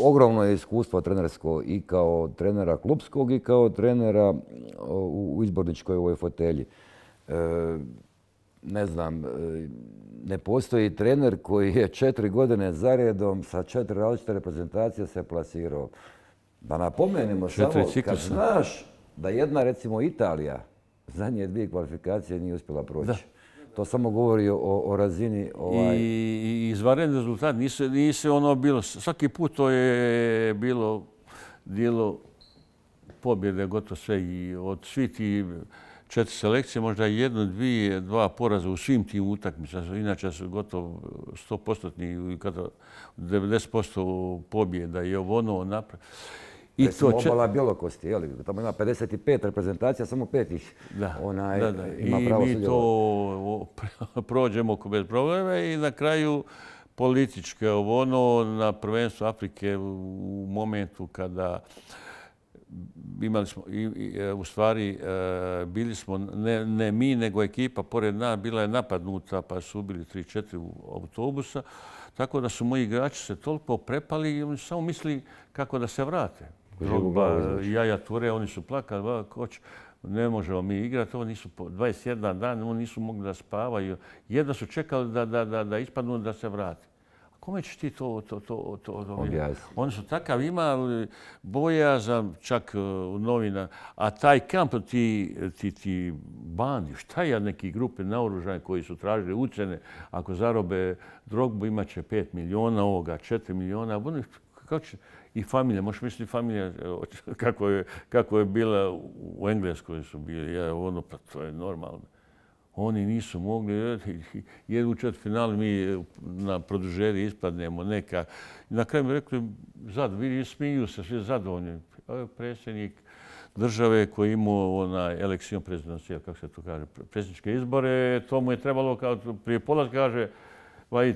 Ogromno je iskustvo trenersko i kao trenera klubskog i kao trenera u izborničkoj ovoj fotelji. Ne znam, ne postoji trener koji je 4 godine zaredom sa 4 različite reprezentacije se plasirao. Da napomenemo samo, kad znaš da jedna, recimo Italija, zadnje 2 kvalifikacije nije uspjela proći. To samo govori o razini... I izvanredni rezultat. Nije ono bilo... Svaki put to je bilo dijelo pobjede, gotovo sve. I od svih ti 4 selekcije, možda 1, 2 poraza u svim tim utakmicama. Inače su gotovo 100%, 90% pobjeda i ono napravljeno. Recimo obala Bjelokosti, tamo ima 55 reprezentacija, samo 5 ih ima pravo sudjelovati. I mi to prođemo bez problema i na kraju političke na prvenstvu Afrike u momentu kada imali smo, u stvari bili smo, ne mi, nego ekipa pored nas, bila je napadnuta pa su ubili 3-4 autobusa. Tako da su moji igrači se toliko prepali i oni samo mislili kako da se vrate. Jaja Ture, oni su plakali, koč, ne možemo mi igrati, ovo nisu 21 dan, oni nisu mogli da spavaju. Jedno su čekali da ispadnu da se vrati. A kome ćeš ti to objasniti? Oni su takav imali bojazan čak u novina, a taj kamp, ti bandi, šta je neki grupe naoružane koji su tražili ucene, ako zarobe Drogbu imaće 5 miliona, ovoga 4 miliona, i familija, možeš misliti familija kako je bila u Engleskoj su bili, pa to je normalno. Oni nisu mogli, jer u četvrtfinalu mi na produžeri ispadnemo neka. Na kraju mi rekli, vidi, smiju se, svi zadovoljni. Predsjednik države koji je imao elekcijon prezidencija, kako se to kaže, predsjedničke izbore, to mu je trebalo, kao prije polaska kaže,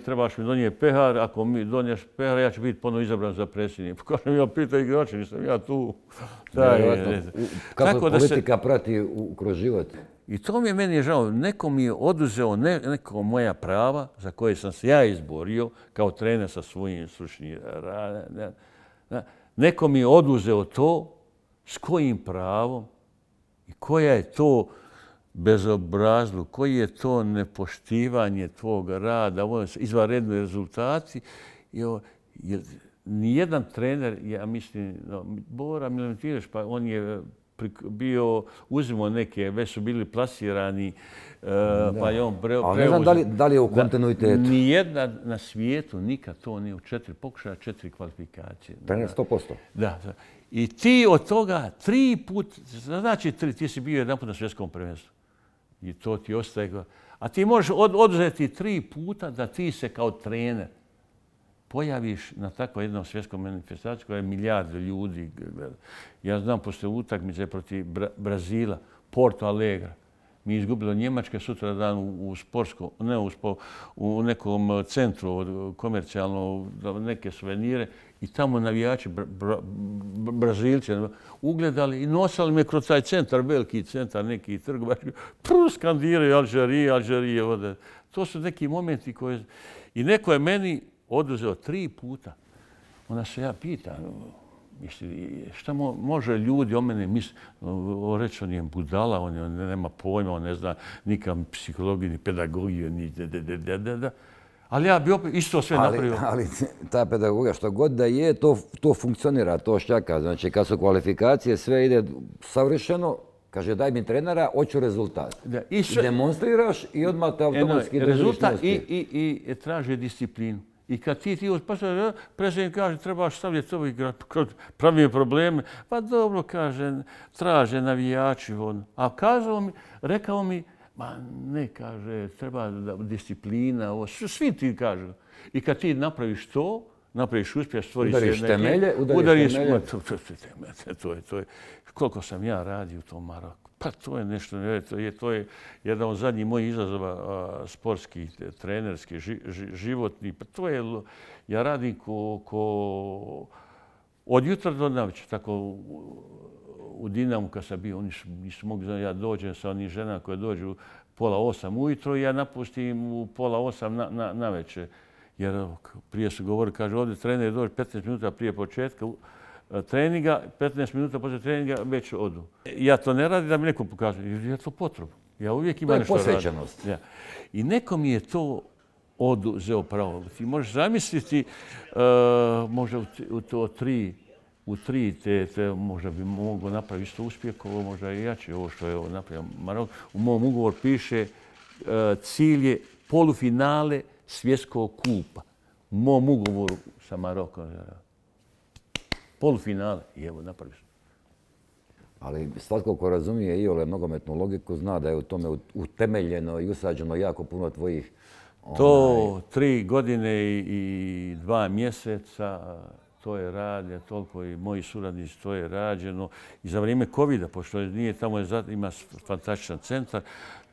trebaš mi donijeti pehar, ako mi doniješ pehar, ja ću biti ponovno izabran za predsjednik. Kažem, ja pitaj igrače, nisam ja tu. Kako politika prati kroz život? I to mi je meni žao. Neko mi je oduzeo neko moja prava za koje sam se ja izborio kao trener sa svojim stručnim radom. Neko mi je oduzeo to s kojim pravom i koja je to bezobrazluk, koji je to nepoštivanje tvog rada, izvanredni rezultati. Nijedan trener, ja mislim, Bora Milutinović, pa on je bio, uzimo neke, već su bili plasirani, pa je on preuzeo. Ali ne znam da li je u kontinuitetu. Nijedna na svijetu nikad to nije u 4 pokušaja, 4 kvalifikacije. Trener 100%. Da. I ti od toga 3 put, znači ti si bio jedan put na svjetskom prvenstvu. I to ti ostaje. A ti možeš oduzeti 3 puta da ti se kao trener pojaviš na takvom jednom svjetskom manifestaciju koja je milijarde ljudi. Ja znam posle utakmice protiv Brazila, Porto Alegre, mi izgubili od Njemačke sutra dan u sportskom, ne u nekom centru komercijalno, neke suvenire i tamo navijači Brazilci ugledali i nosali me kroz taj centar, veliki centar, neki trgovački, skandiraju Alžirije. To su neki momenti koje... I neko je meni oduzeo 3 puta. Onda se ja pitam, šta može ljudi o mene misliti? Reći, on je budala, on nema pojma, on ne zna nikam psihologiju, ni pedagogiju, ni da. Ali ja bi opet isto sve napravio. Ali ta pedagogija, što god da je, to funkcionira, to šljaka. Znači, kad su kvalifikacije, sve ide savršeno, kaže, daj mi trenera, hoću rezultat. I demonstriraš i odmah te automatski rezultat i traže disciplinu. I kad ti prezident kaže trebaš stavljati ovo igrati kroz pravi probleme, pa dobro, kaže, traže navijači. A rekao mi, ma ne, kaže, treba disciplina, svi ti kažu. I kad ti napraviš to, napraviš uspjeh, stvoriš temelje. To je koliko sam ja radio u tom Maroku. Pa to je nešto, to je jedan od zadnjih mojih izazova sportskih, trenerskih, životnih. Pa to je, ja radim od jutra do navečer, tako u Dinamu kad sam bio, oni nisu mogli, ja dođem sa onih žena koje dođu 7:30 ujutro i ja napustim u 7:30 navečer. Jer prije su govorili, kaže, ovdje trener dođe 15 minuta prije početka treninga, 15 minuta poslije treninga već odu. Ja to ne radim da mi neko pokaže, jer je to potrebno. Ja uvijek imam nešto radim. To je posvećenost. I neko mi je to oduzeo pravo. Ti možeš zamisliti, možda u tri te možda bi mogao napraviti isto uspjeh, ovo možda i jače, ovo što je napravio Marok. U mom ugovoru piše cilj je polufinale svjetskog kupa. U mom ugovoru sa Marokom. Polufinale. I evo, napraviš. Ali svatko ko razumije iole nogometnu logiku zna da je u tome utemeljeno i usađeno jako puno tvojih... To 3 godine i 2 mjeseca, to je radnje, toliko i moji suradnici, to je rađeno. I za vrijeme COVID-a, pošto nije tamo ima fantastičan centar,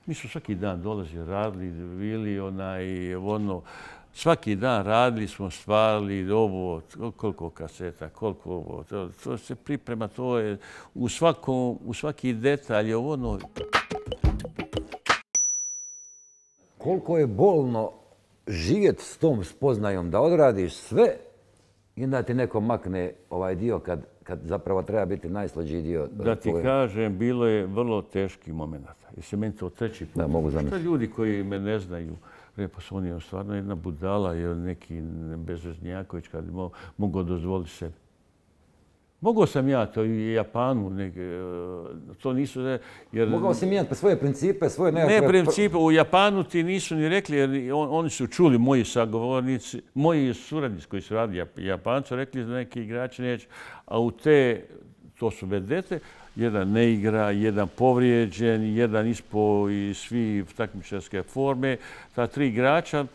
mi smo svaki dan dolazili, radili, bili svaki dan radili smo, stvarali ovo, koliko kaseta, koliko ovo. To se priprema, to je u svaki detalj je ono. Koliko je bolno živjeti s tom spoznajom da odradiš sve i da ti neko makne ovaj dio kad zapravo treba biti najslađiji dio. Da ti kažem, bilo je vrlo teških momenta. Jer se meni to 3. put. Da, mogu zamisliti. Što ljudi koji me ne znaju, pa su oni stvarno jedna budala, jer neki bezveznjaković kad mogu dozvoliti sebi. Mogao sam ja to i u Japanu, to nisu... Mogao si mijenjati svoje principe, svoje nekakve... Ne principe, u Japanu ti nisu ni rekli, jer oni su čuli, moji sagovornici, moji suradnici koji su radili Japancu, rekli da neki igrači neće, a to su vedete, jedan ne igra, jedan povrijeđen, jedan ispao i svi takmičarske forme. Ta 3 igrača,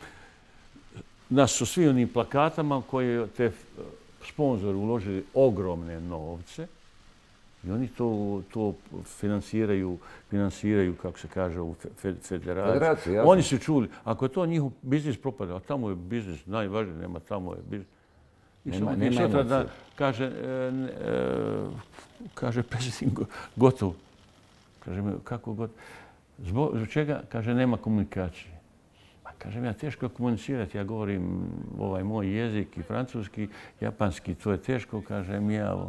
nas su svi onim plakatama koje te sponzori uložili ogromne novce i oni to finansiraju, kako se kaže, u federaciji. Oni su čuli, ako je to njihov biznis propada, a tamo je biznis najvažniji, nema tamo je biznis. I sutra da kaže predsjednik gotovo. Kaže, kako gotovo? Zbog čega? Kaže, nema komunikacije. Kažem, ja teško komunicirati, ja govorim ovaj moj jezik i francuski, japanski, to je teško, kažem ja.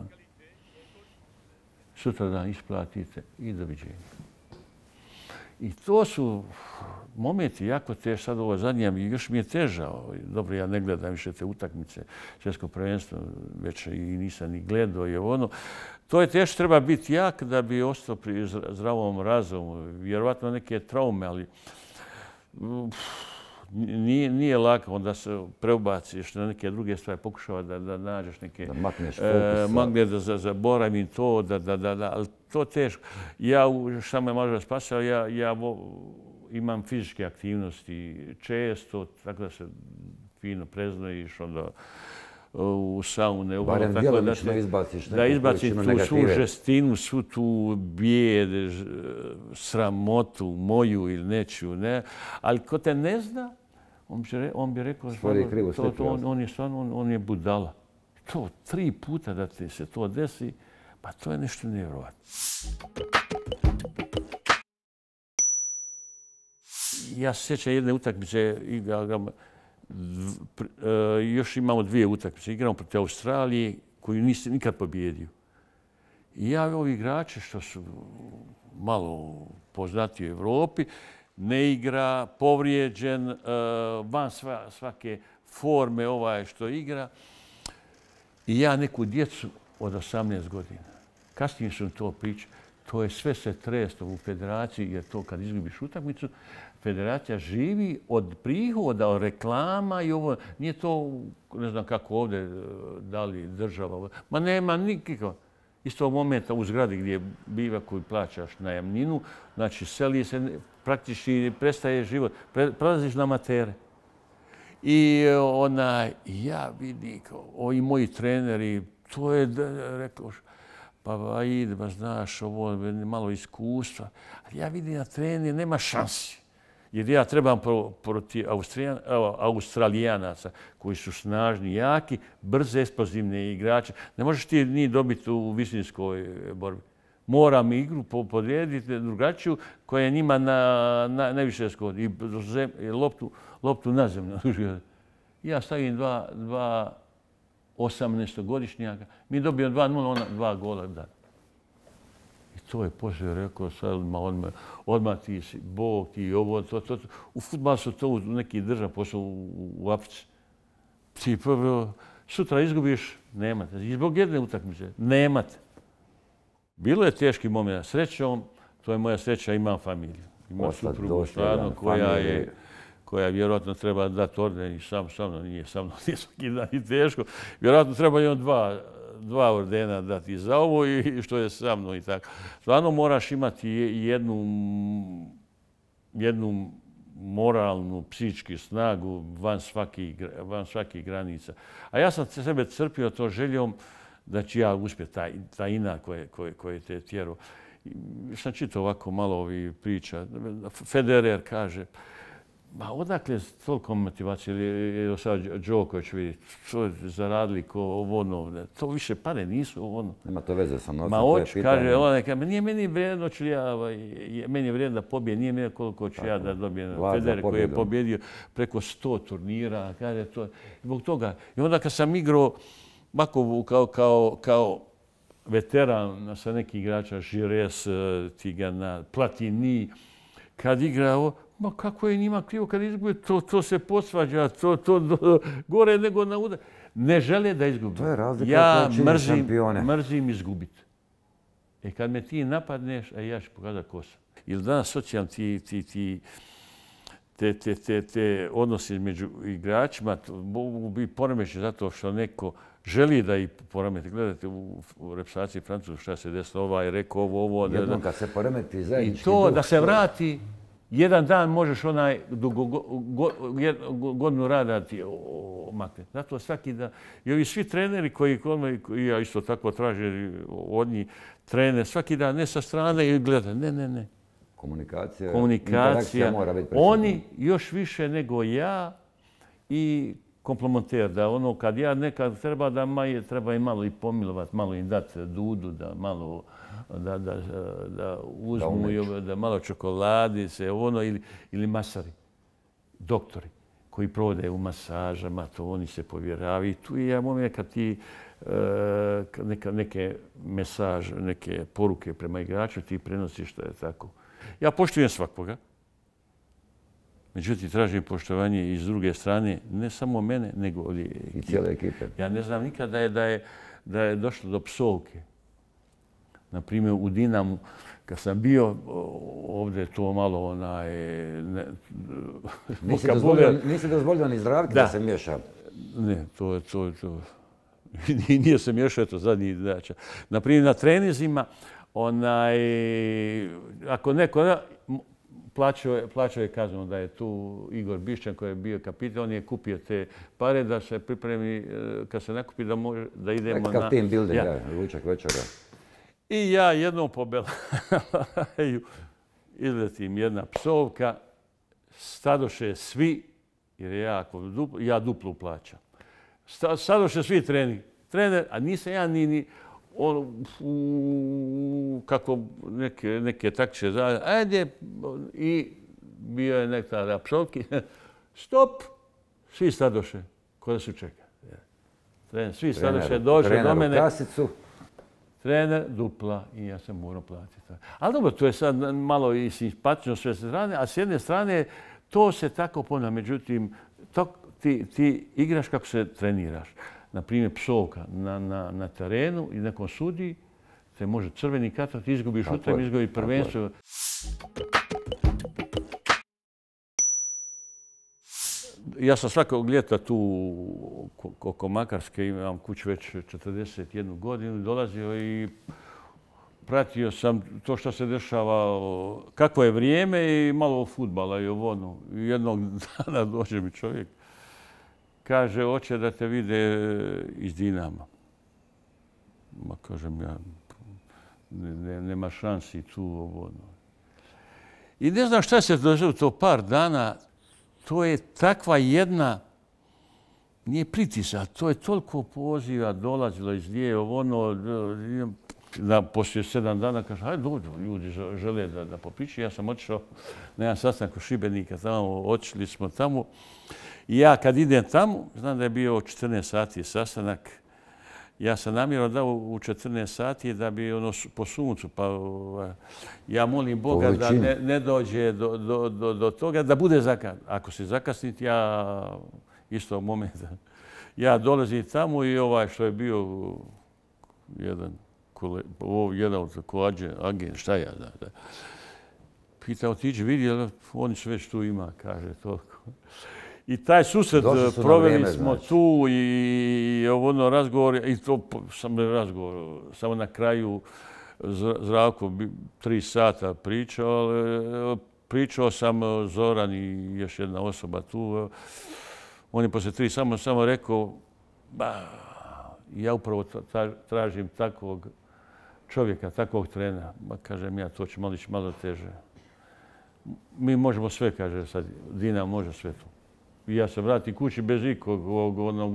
Sutra dan isplatite i doviđenja. I to su momenti jako teški. Sad ovo zadnje, još mi je težao. Dobro, ja ne gledam više te utakmice svjetskog prvenstva, već i nisam ni gledao. To je teško, treba biti jak da bi ostao pri zdravom razumu. Vjerovatno neke traume, ali nije lako, onda se preobaciš na neke druge stvari, pokušava da nađeš neke... Da makneš fokus. Da zaboravim to, ali to teško. Ja, šta me može spasao, ja imam fizičke aktivnosti često, tako da se fino preznojiš, onda u saune. Barem djelomično izbaciš da izbaciš tu svu žestinu, svu tu bijed, sramotu moju ili nečiju. Ne? Ali ko te ne zna, on bi rekao, on je budala. To 3 puta da ti se to desi, pa to je nešto nevjerovatno. Ja se sjećam jedne utakmice, još imamo 2 utakmice. Igramo protiv Australije koju nisi nikad pobjedio. I ja ovi igrači što su malo poznati u Evropi, ne igra, povrijeđen, van svake forme što igra. I ja neku djecu od 18 godina. Kasnije sam to pričao. To je sve se treslo u federaciji, jer to kad izgubiš utakmicu, federacija živi od prihoda, od reklama i ovo. Nije to, ne znam kako ovdje dali država. Ma nema nikako. Iz tog momenta u zgradi gdje biva koju plaćaš najamninu, znači seli se, praktički prestaje život. Prelaziš na amatere. I ja vidim, ovi moji treneri, to je, rekao, pa ide, ba znaš, ovo malo iskustva. Ali ja vidim na trener, nema šansi. Jer ja trebam protiv Australijanaca koji su snažni, jaki, brze, eksplozivne igrače. Ne možeš ti ni dobiti u visinskoj borbi. Moram igru podrediti drugačiju koja je njima najviše skodi. I loptu na zemlju. Ja stavim 2 18-godišnjaka. Mi dobijemo 2-0, ona 2 gola da. I to je poslije rekao, odmah ti si Bog, ti ovo, to. U fudbalu su to u neki držav posao u Africi. Ti prvo, sutra izgubiš, nemate. I zbog jedne utakmice, nemate. Bilo je teški moment. Srećom, to je moja sreća, imam familiju. Imam suprugu stvarno koja vjerojatno treba dati orden i sa mnom nije sa mnom svaki dan i teško. Vjerojatno treba imati 2 ordena dati za ovo i što je sa mnom i tako. Stvarno moraš imati jednu moralnu, psihičku snagu van svakih granica. A ja sam sebe crpio to željom da ću ja uspjeti, ta ina koje te tjeru. Sam čitao ovako malo ovih priča. Federer kaže, ma odakle toliko motivacije, ili sad Đoković vidi, što zaradili ko ono, to više pare nisu ono. Nema to veze sa novcem, to je pitanje. Kaže, nije meni vrijedno, meni je vrijedno da pobijem, nije meni koliko ću ja da dobijem. Federer koji je pobjedio preko 100 turnira, kaže to. Zbog toga. I onda kad sam igrao ovako kao veteran sa nekih igrača, Žires, Tigana, Platini, kad igrao, ma kako je njima krivo kad izgube, to se posvađa, to gore nego na udar. Ne žele da izgubi. To je razlika ja mrzim izgubiti. Kad me ti napadneš, ja ću pokazati ko sam. Ili danas socijalno te odnosi među igračima mogu biti poremećeni zato što neko želi da ih poremeti. Gledajte u reprezentaciji Francuske šta se desilo, rekao ovo. Jednom kad se poremeti zajednički duh. I to da se vrati, jedan dan možeš godinu rada ti omakne. Zato svaki dan. I ovi svi treneri koji ja isto tako tražim od njih trener, svaki dan ne sa strane i gleda. Ne. Komunikacija, interakcija mora biti prisutna. Oni još više nego ja i komplementer. Da ono kad ja nekad treba im malo i pomilovati, malo im dati dudu, da malo da uzmu da malo čokoladice, ono ili masari, doktori koji provode u masažama, to oni se povjeravaju. Tu je ja moment kad ti neke mesaže, neke poruke prema igraču ti prenosiš što je tako. Ja poštujem svakoga. Međutim, tražim poštovanje iz druge strane, ne samo mene, nego i cijele ekipe. Ja ne znam nikada da je došlo do psovke. Naprimjer, u Dinamu, kad sam bio ovdje to malo Nisi dozvolio ni Zdravki da se miješa? Ne, to. Nije se miješao, to zadnji dača. Naprimjer, na trenizima, ako neko plaćao je kaznu da je tu Igor Bišćan koji je bio kapitan. On je kupio te pare da se pripremi, kad se nakupi da idemo na... Nekakav team building, ručak večera. I ja jednom po Belaju izletim jedna psovka, stadoše svi, jer ja duplu plaćam. Stadoše svi trener, a nisam ja ni kako neke takće zajedno, ajde, i bio je neka psovki, stop, svi stadoše, ko da su čeka. Svi stadoše došli do mene. Kasicu. Trener, dupla i ja sam morao platiti. Ali dobro, to je sad malo i simpatično sve strane, a s jedne strane to se tako ponavlja. Međutim, ti igraš kako se treniraš. Naprimjer, psovka na terenu i nekom sudi, te može crveni karton, izgubiš utakmicu, izgubiš prvenstvo. Ja sam svakog ljeta tu oko Makarske, imam kuću već 41 godinu, dolazio i pratio sam to što se dešava, kako je vrijeme i malo fudbala i ovo. Jednog dana dođe mi čovjek, kaže, hoće da te vide iz Dinama. Ma kažem ja, nema šansi tu ovo. I ne znam šta se dođe u to par dana. To je takva jedna, nije pritisak, to je toliko poziva, dolazilo iz lije, poslije 7 dana kaže, hajde dođu, ljudi žele da popričaju. Ja sam otišao na jedan sastanak u Šibenika, otišli smo tamo. I ja kad idem tamo, znam da je bio 14 sati sastanak, ja sam namjerno dao u 14 sati da bi po suncu, pa ja molim Boga da ne dođe do toga, da bude zakasniti. Ako se zakasniti, ja istog momenta, ja dolazim tamo i ovaj što je bio jedan od agent, šta ja da. Pitao, tiđi vidi, oni su već tu ima, kaže toliko. I taj susret proveli smo tu i razgovor, i to sam razgovor, samo na kraju Zdravko 3 sata pričao sam Zoran i još jedna osoba tu. On je poslije 3 samo rekao, ja upravo tražim takvog čovjeka, takvog trenera. Kažem ja, to će malo teže. Mi možemo sve, kaže sad, Dinamo može sve to. I ja se vratim kući bez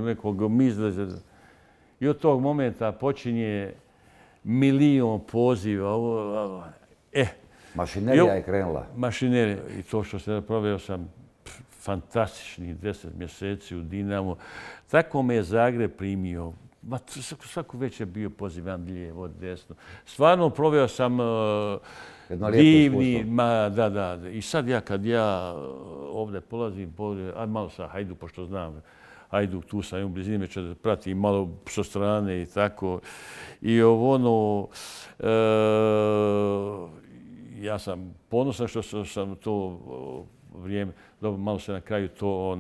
nekog mizleza. I od tog momenta počinje milion poziva. Mašinerija je krenula. Mašinerija. I to što se proveo sam fantastičnih 10 mjeseci u Dinamo. Tako me je Zagreb primio. Svako već je bio pozivan lijevo, desno. Stvarno proveo sam divni, da. I sad kad ja ovdje polazim, malo sa Hajduk, pošto znam, Hajduk tu sam u blizini, da pratim malo sa strane i tako. I ja sam ponosan što sam to vrijeme, malo se na kraju to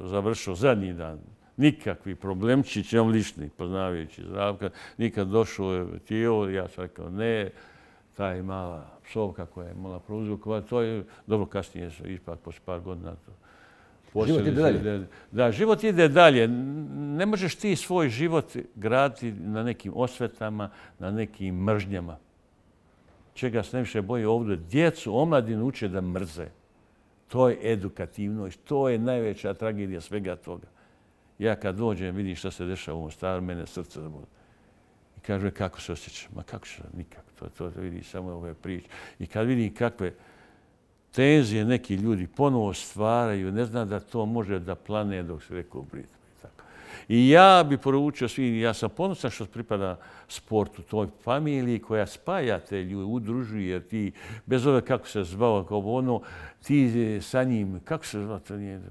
završio zadnji dan. Nikakvi problemčići, on lični, poznavajući Zdravka, nikad došao je tijelo, ja sam rekao ne, taj mala psovka koja je mala prouzrokovati, to je dobro kasnije, ipak posle par godina. Život ide dalje. Da, život ide dalje. Ne možeš ti svoj život graditi na nekim osvetama, na nekim mržnjama. Čega se najviše boji ovdje? Djecu, omladinu uče da mrze. To je edukativno i to je najveća tragedija svega toga. Ja kad dođem, vidim šta se dešava u ovom staru, mene srce zaboli. I kaže, kako se osjećaš? Ma kako se? Nikako. To vidi samo ove priče. I kad vidim kakve tenzije neki ljudi ponovo stvaraju, ne znam da to može da plane dok se rekao u Britmu. I ja bi poručio svim, ja sam ponosan što pripada sportu, toj familiji koja spaja te ljude, udružuje, jer ti, bez ove kako se zvao, kao ti sa njim, kako se zvao, to nije,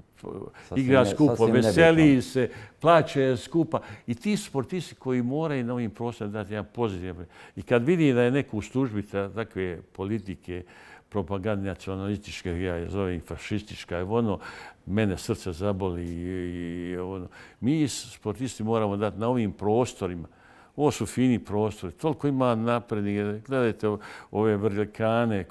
igra skupo, veseli se, plaće skupa. I ti sportisti koji moraju na ovim prostorima dati jedan pozitivan. I kad vidi da je neko u službi takve politike, propagandne nacionalističke, ja je zovem fašistička, mene srce zaboli. Mi sportisti moramo dati na ovim prostorima, Ovo su fini prostori, toliko ima naprednih. Gledajte ove vrljekane,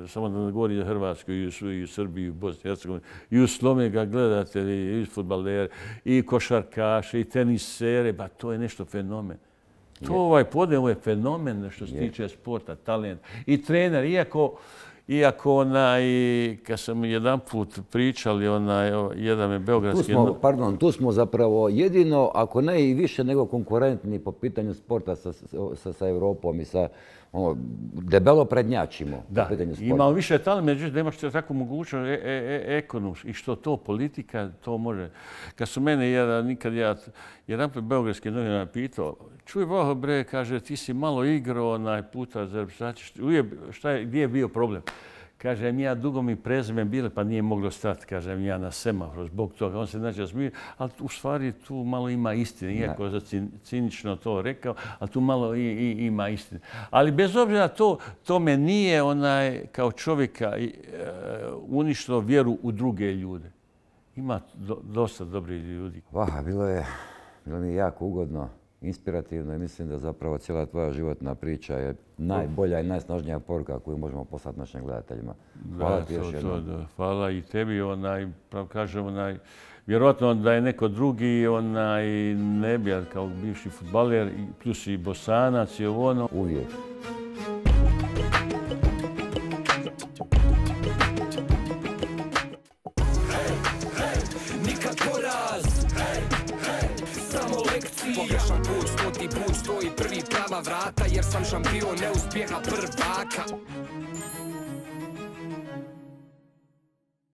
samo da ne govori za Hrvatsku, i u Srbiji, i u Bosni i Hercegovini, i u Sloveniji ga gledate, i fudbalere, i košarkaše, i tenisere, ba to je nešto fenomen. To ovo je fenomen što se tiče sporta, talent. I trener, iako kad sam jedan put pričali, jedan je beogradski... Tu smo zapravo jedino, ako ne i više nego konkurentni po pitanju sporta sa Evropom i sa debelo prednjačimo. Da, imamo više talent, međutim da imaš takvu mogućnost ekonomsku i što to politika, to može. Kad su mene jedan put beogradski novinar pitao, čuj Boho bre, kaže, ti si malo igrao puta za reprezentaciju, gdje je bio problem? Kažem, ja dugo mi prezime bile, pa nije moglo stati, kažem, ja na semaforu zbog toga. On se znači smije, ali u stvari tu malo ima istine. Iako je cinično to rekao, ali tu malo ima istine. Ali bez obzira to me nije kao čovjeka uništilo vjeru u druge ljude. Ima dosta dobrih ljudi. Bilo mi je jako ugodno, inspirativno i mislim da zapravo cijela tvoja životna priča je najbolja i najsnažnija poruka koju možemo poslati našim gledateljima. Hvala ti još jednom. Hvala i tebi. Kažem, vjerojatno da je neko drugi ne bi, kao bivši fudbaler, plus i Bosanac i ono. Uvijek. Pogrešan put, 100. put, stoji prvi prava vrata, jer sam šampion neuspjeha prvaka.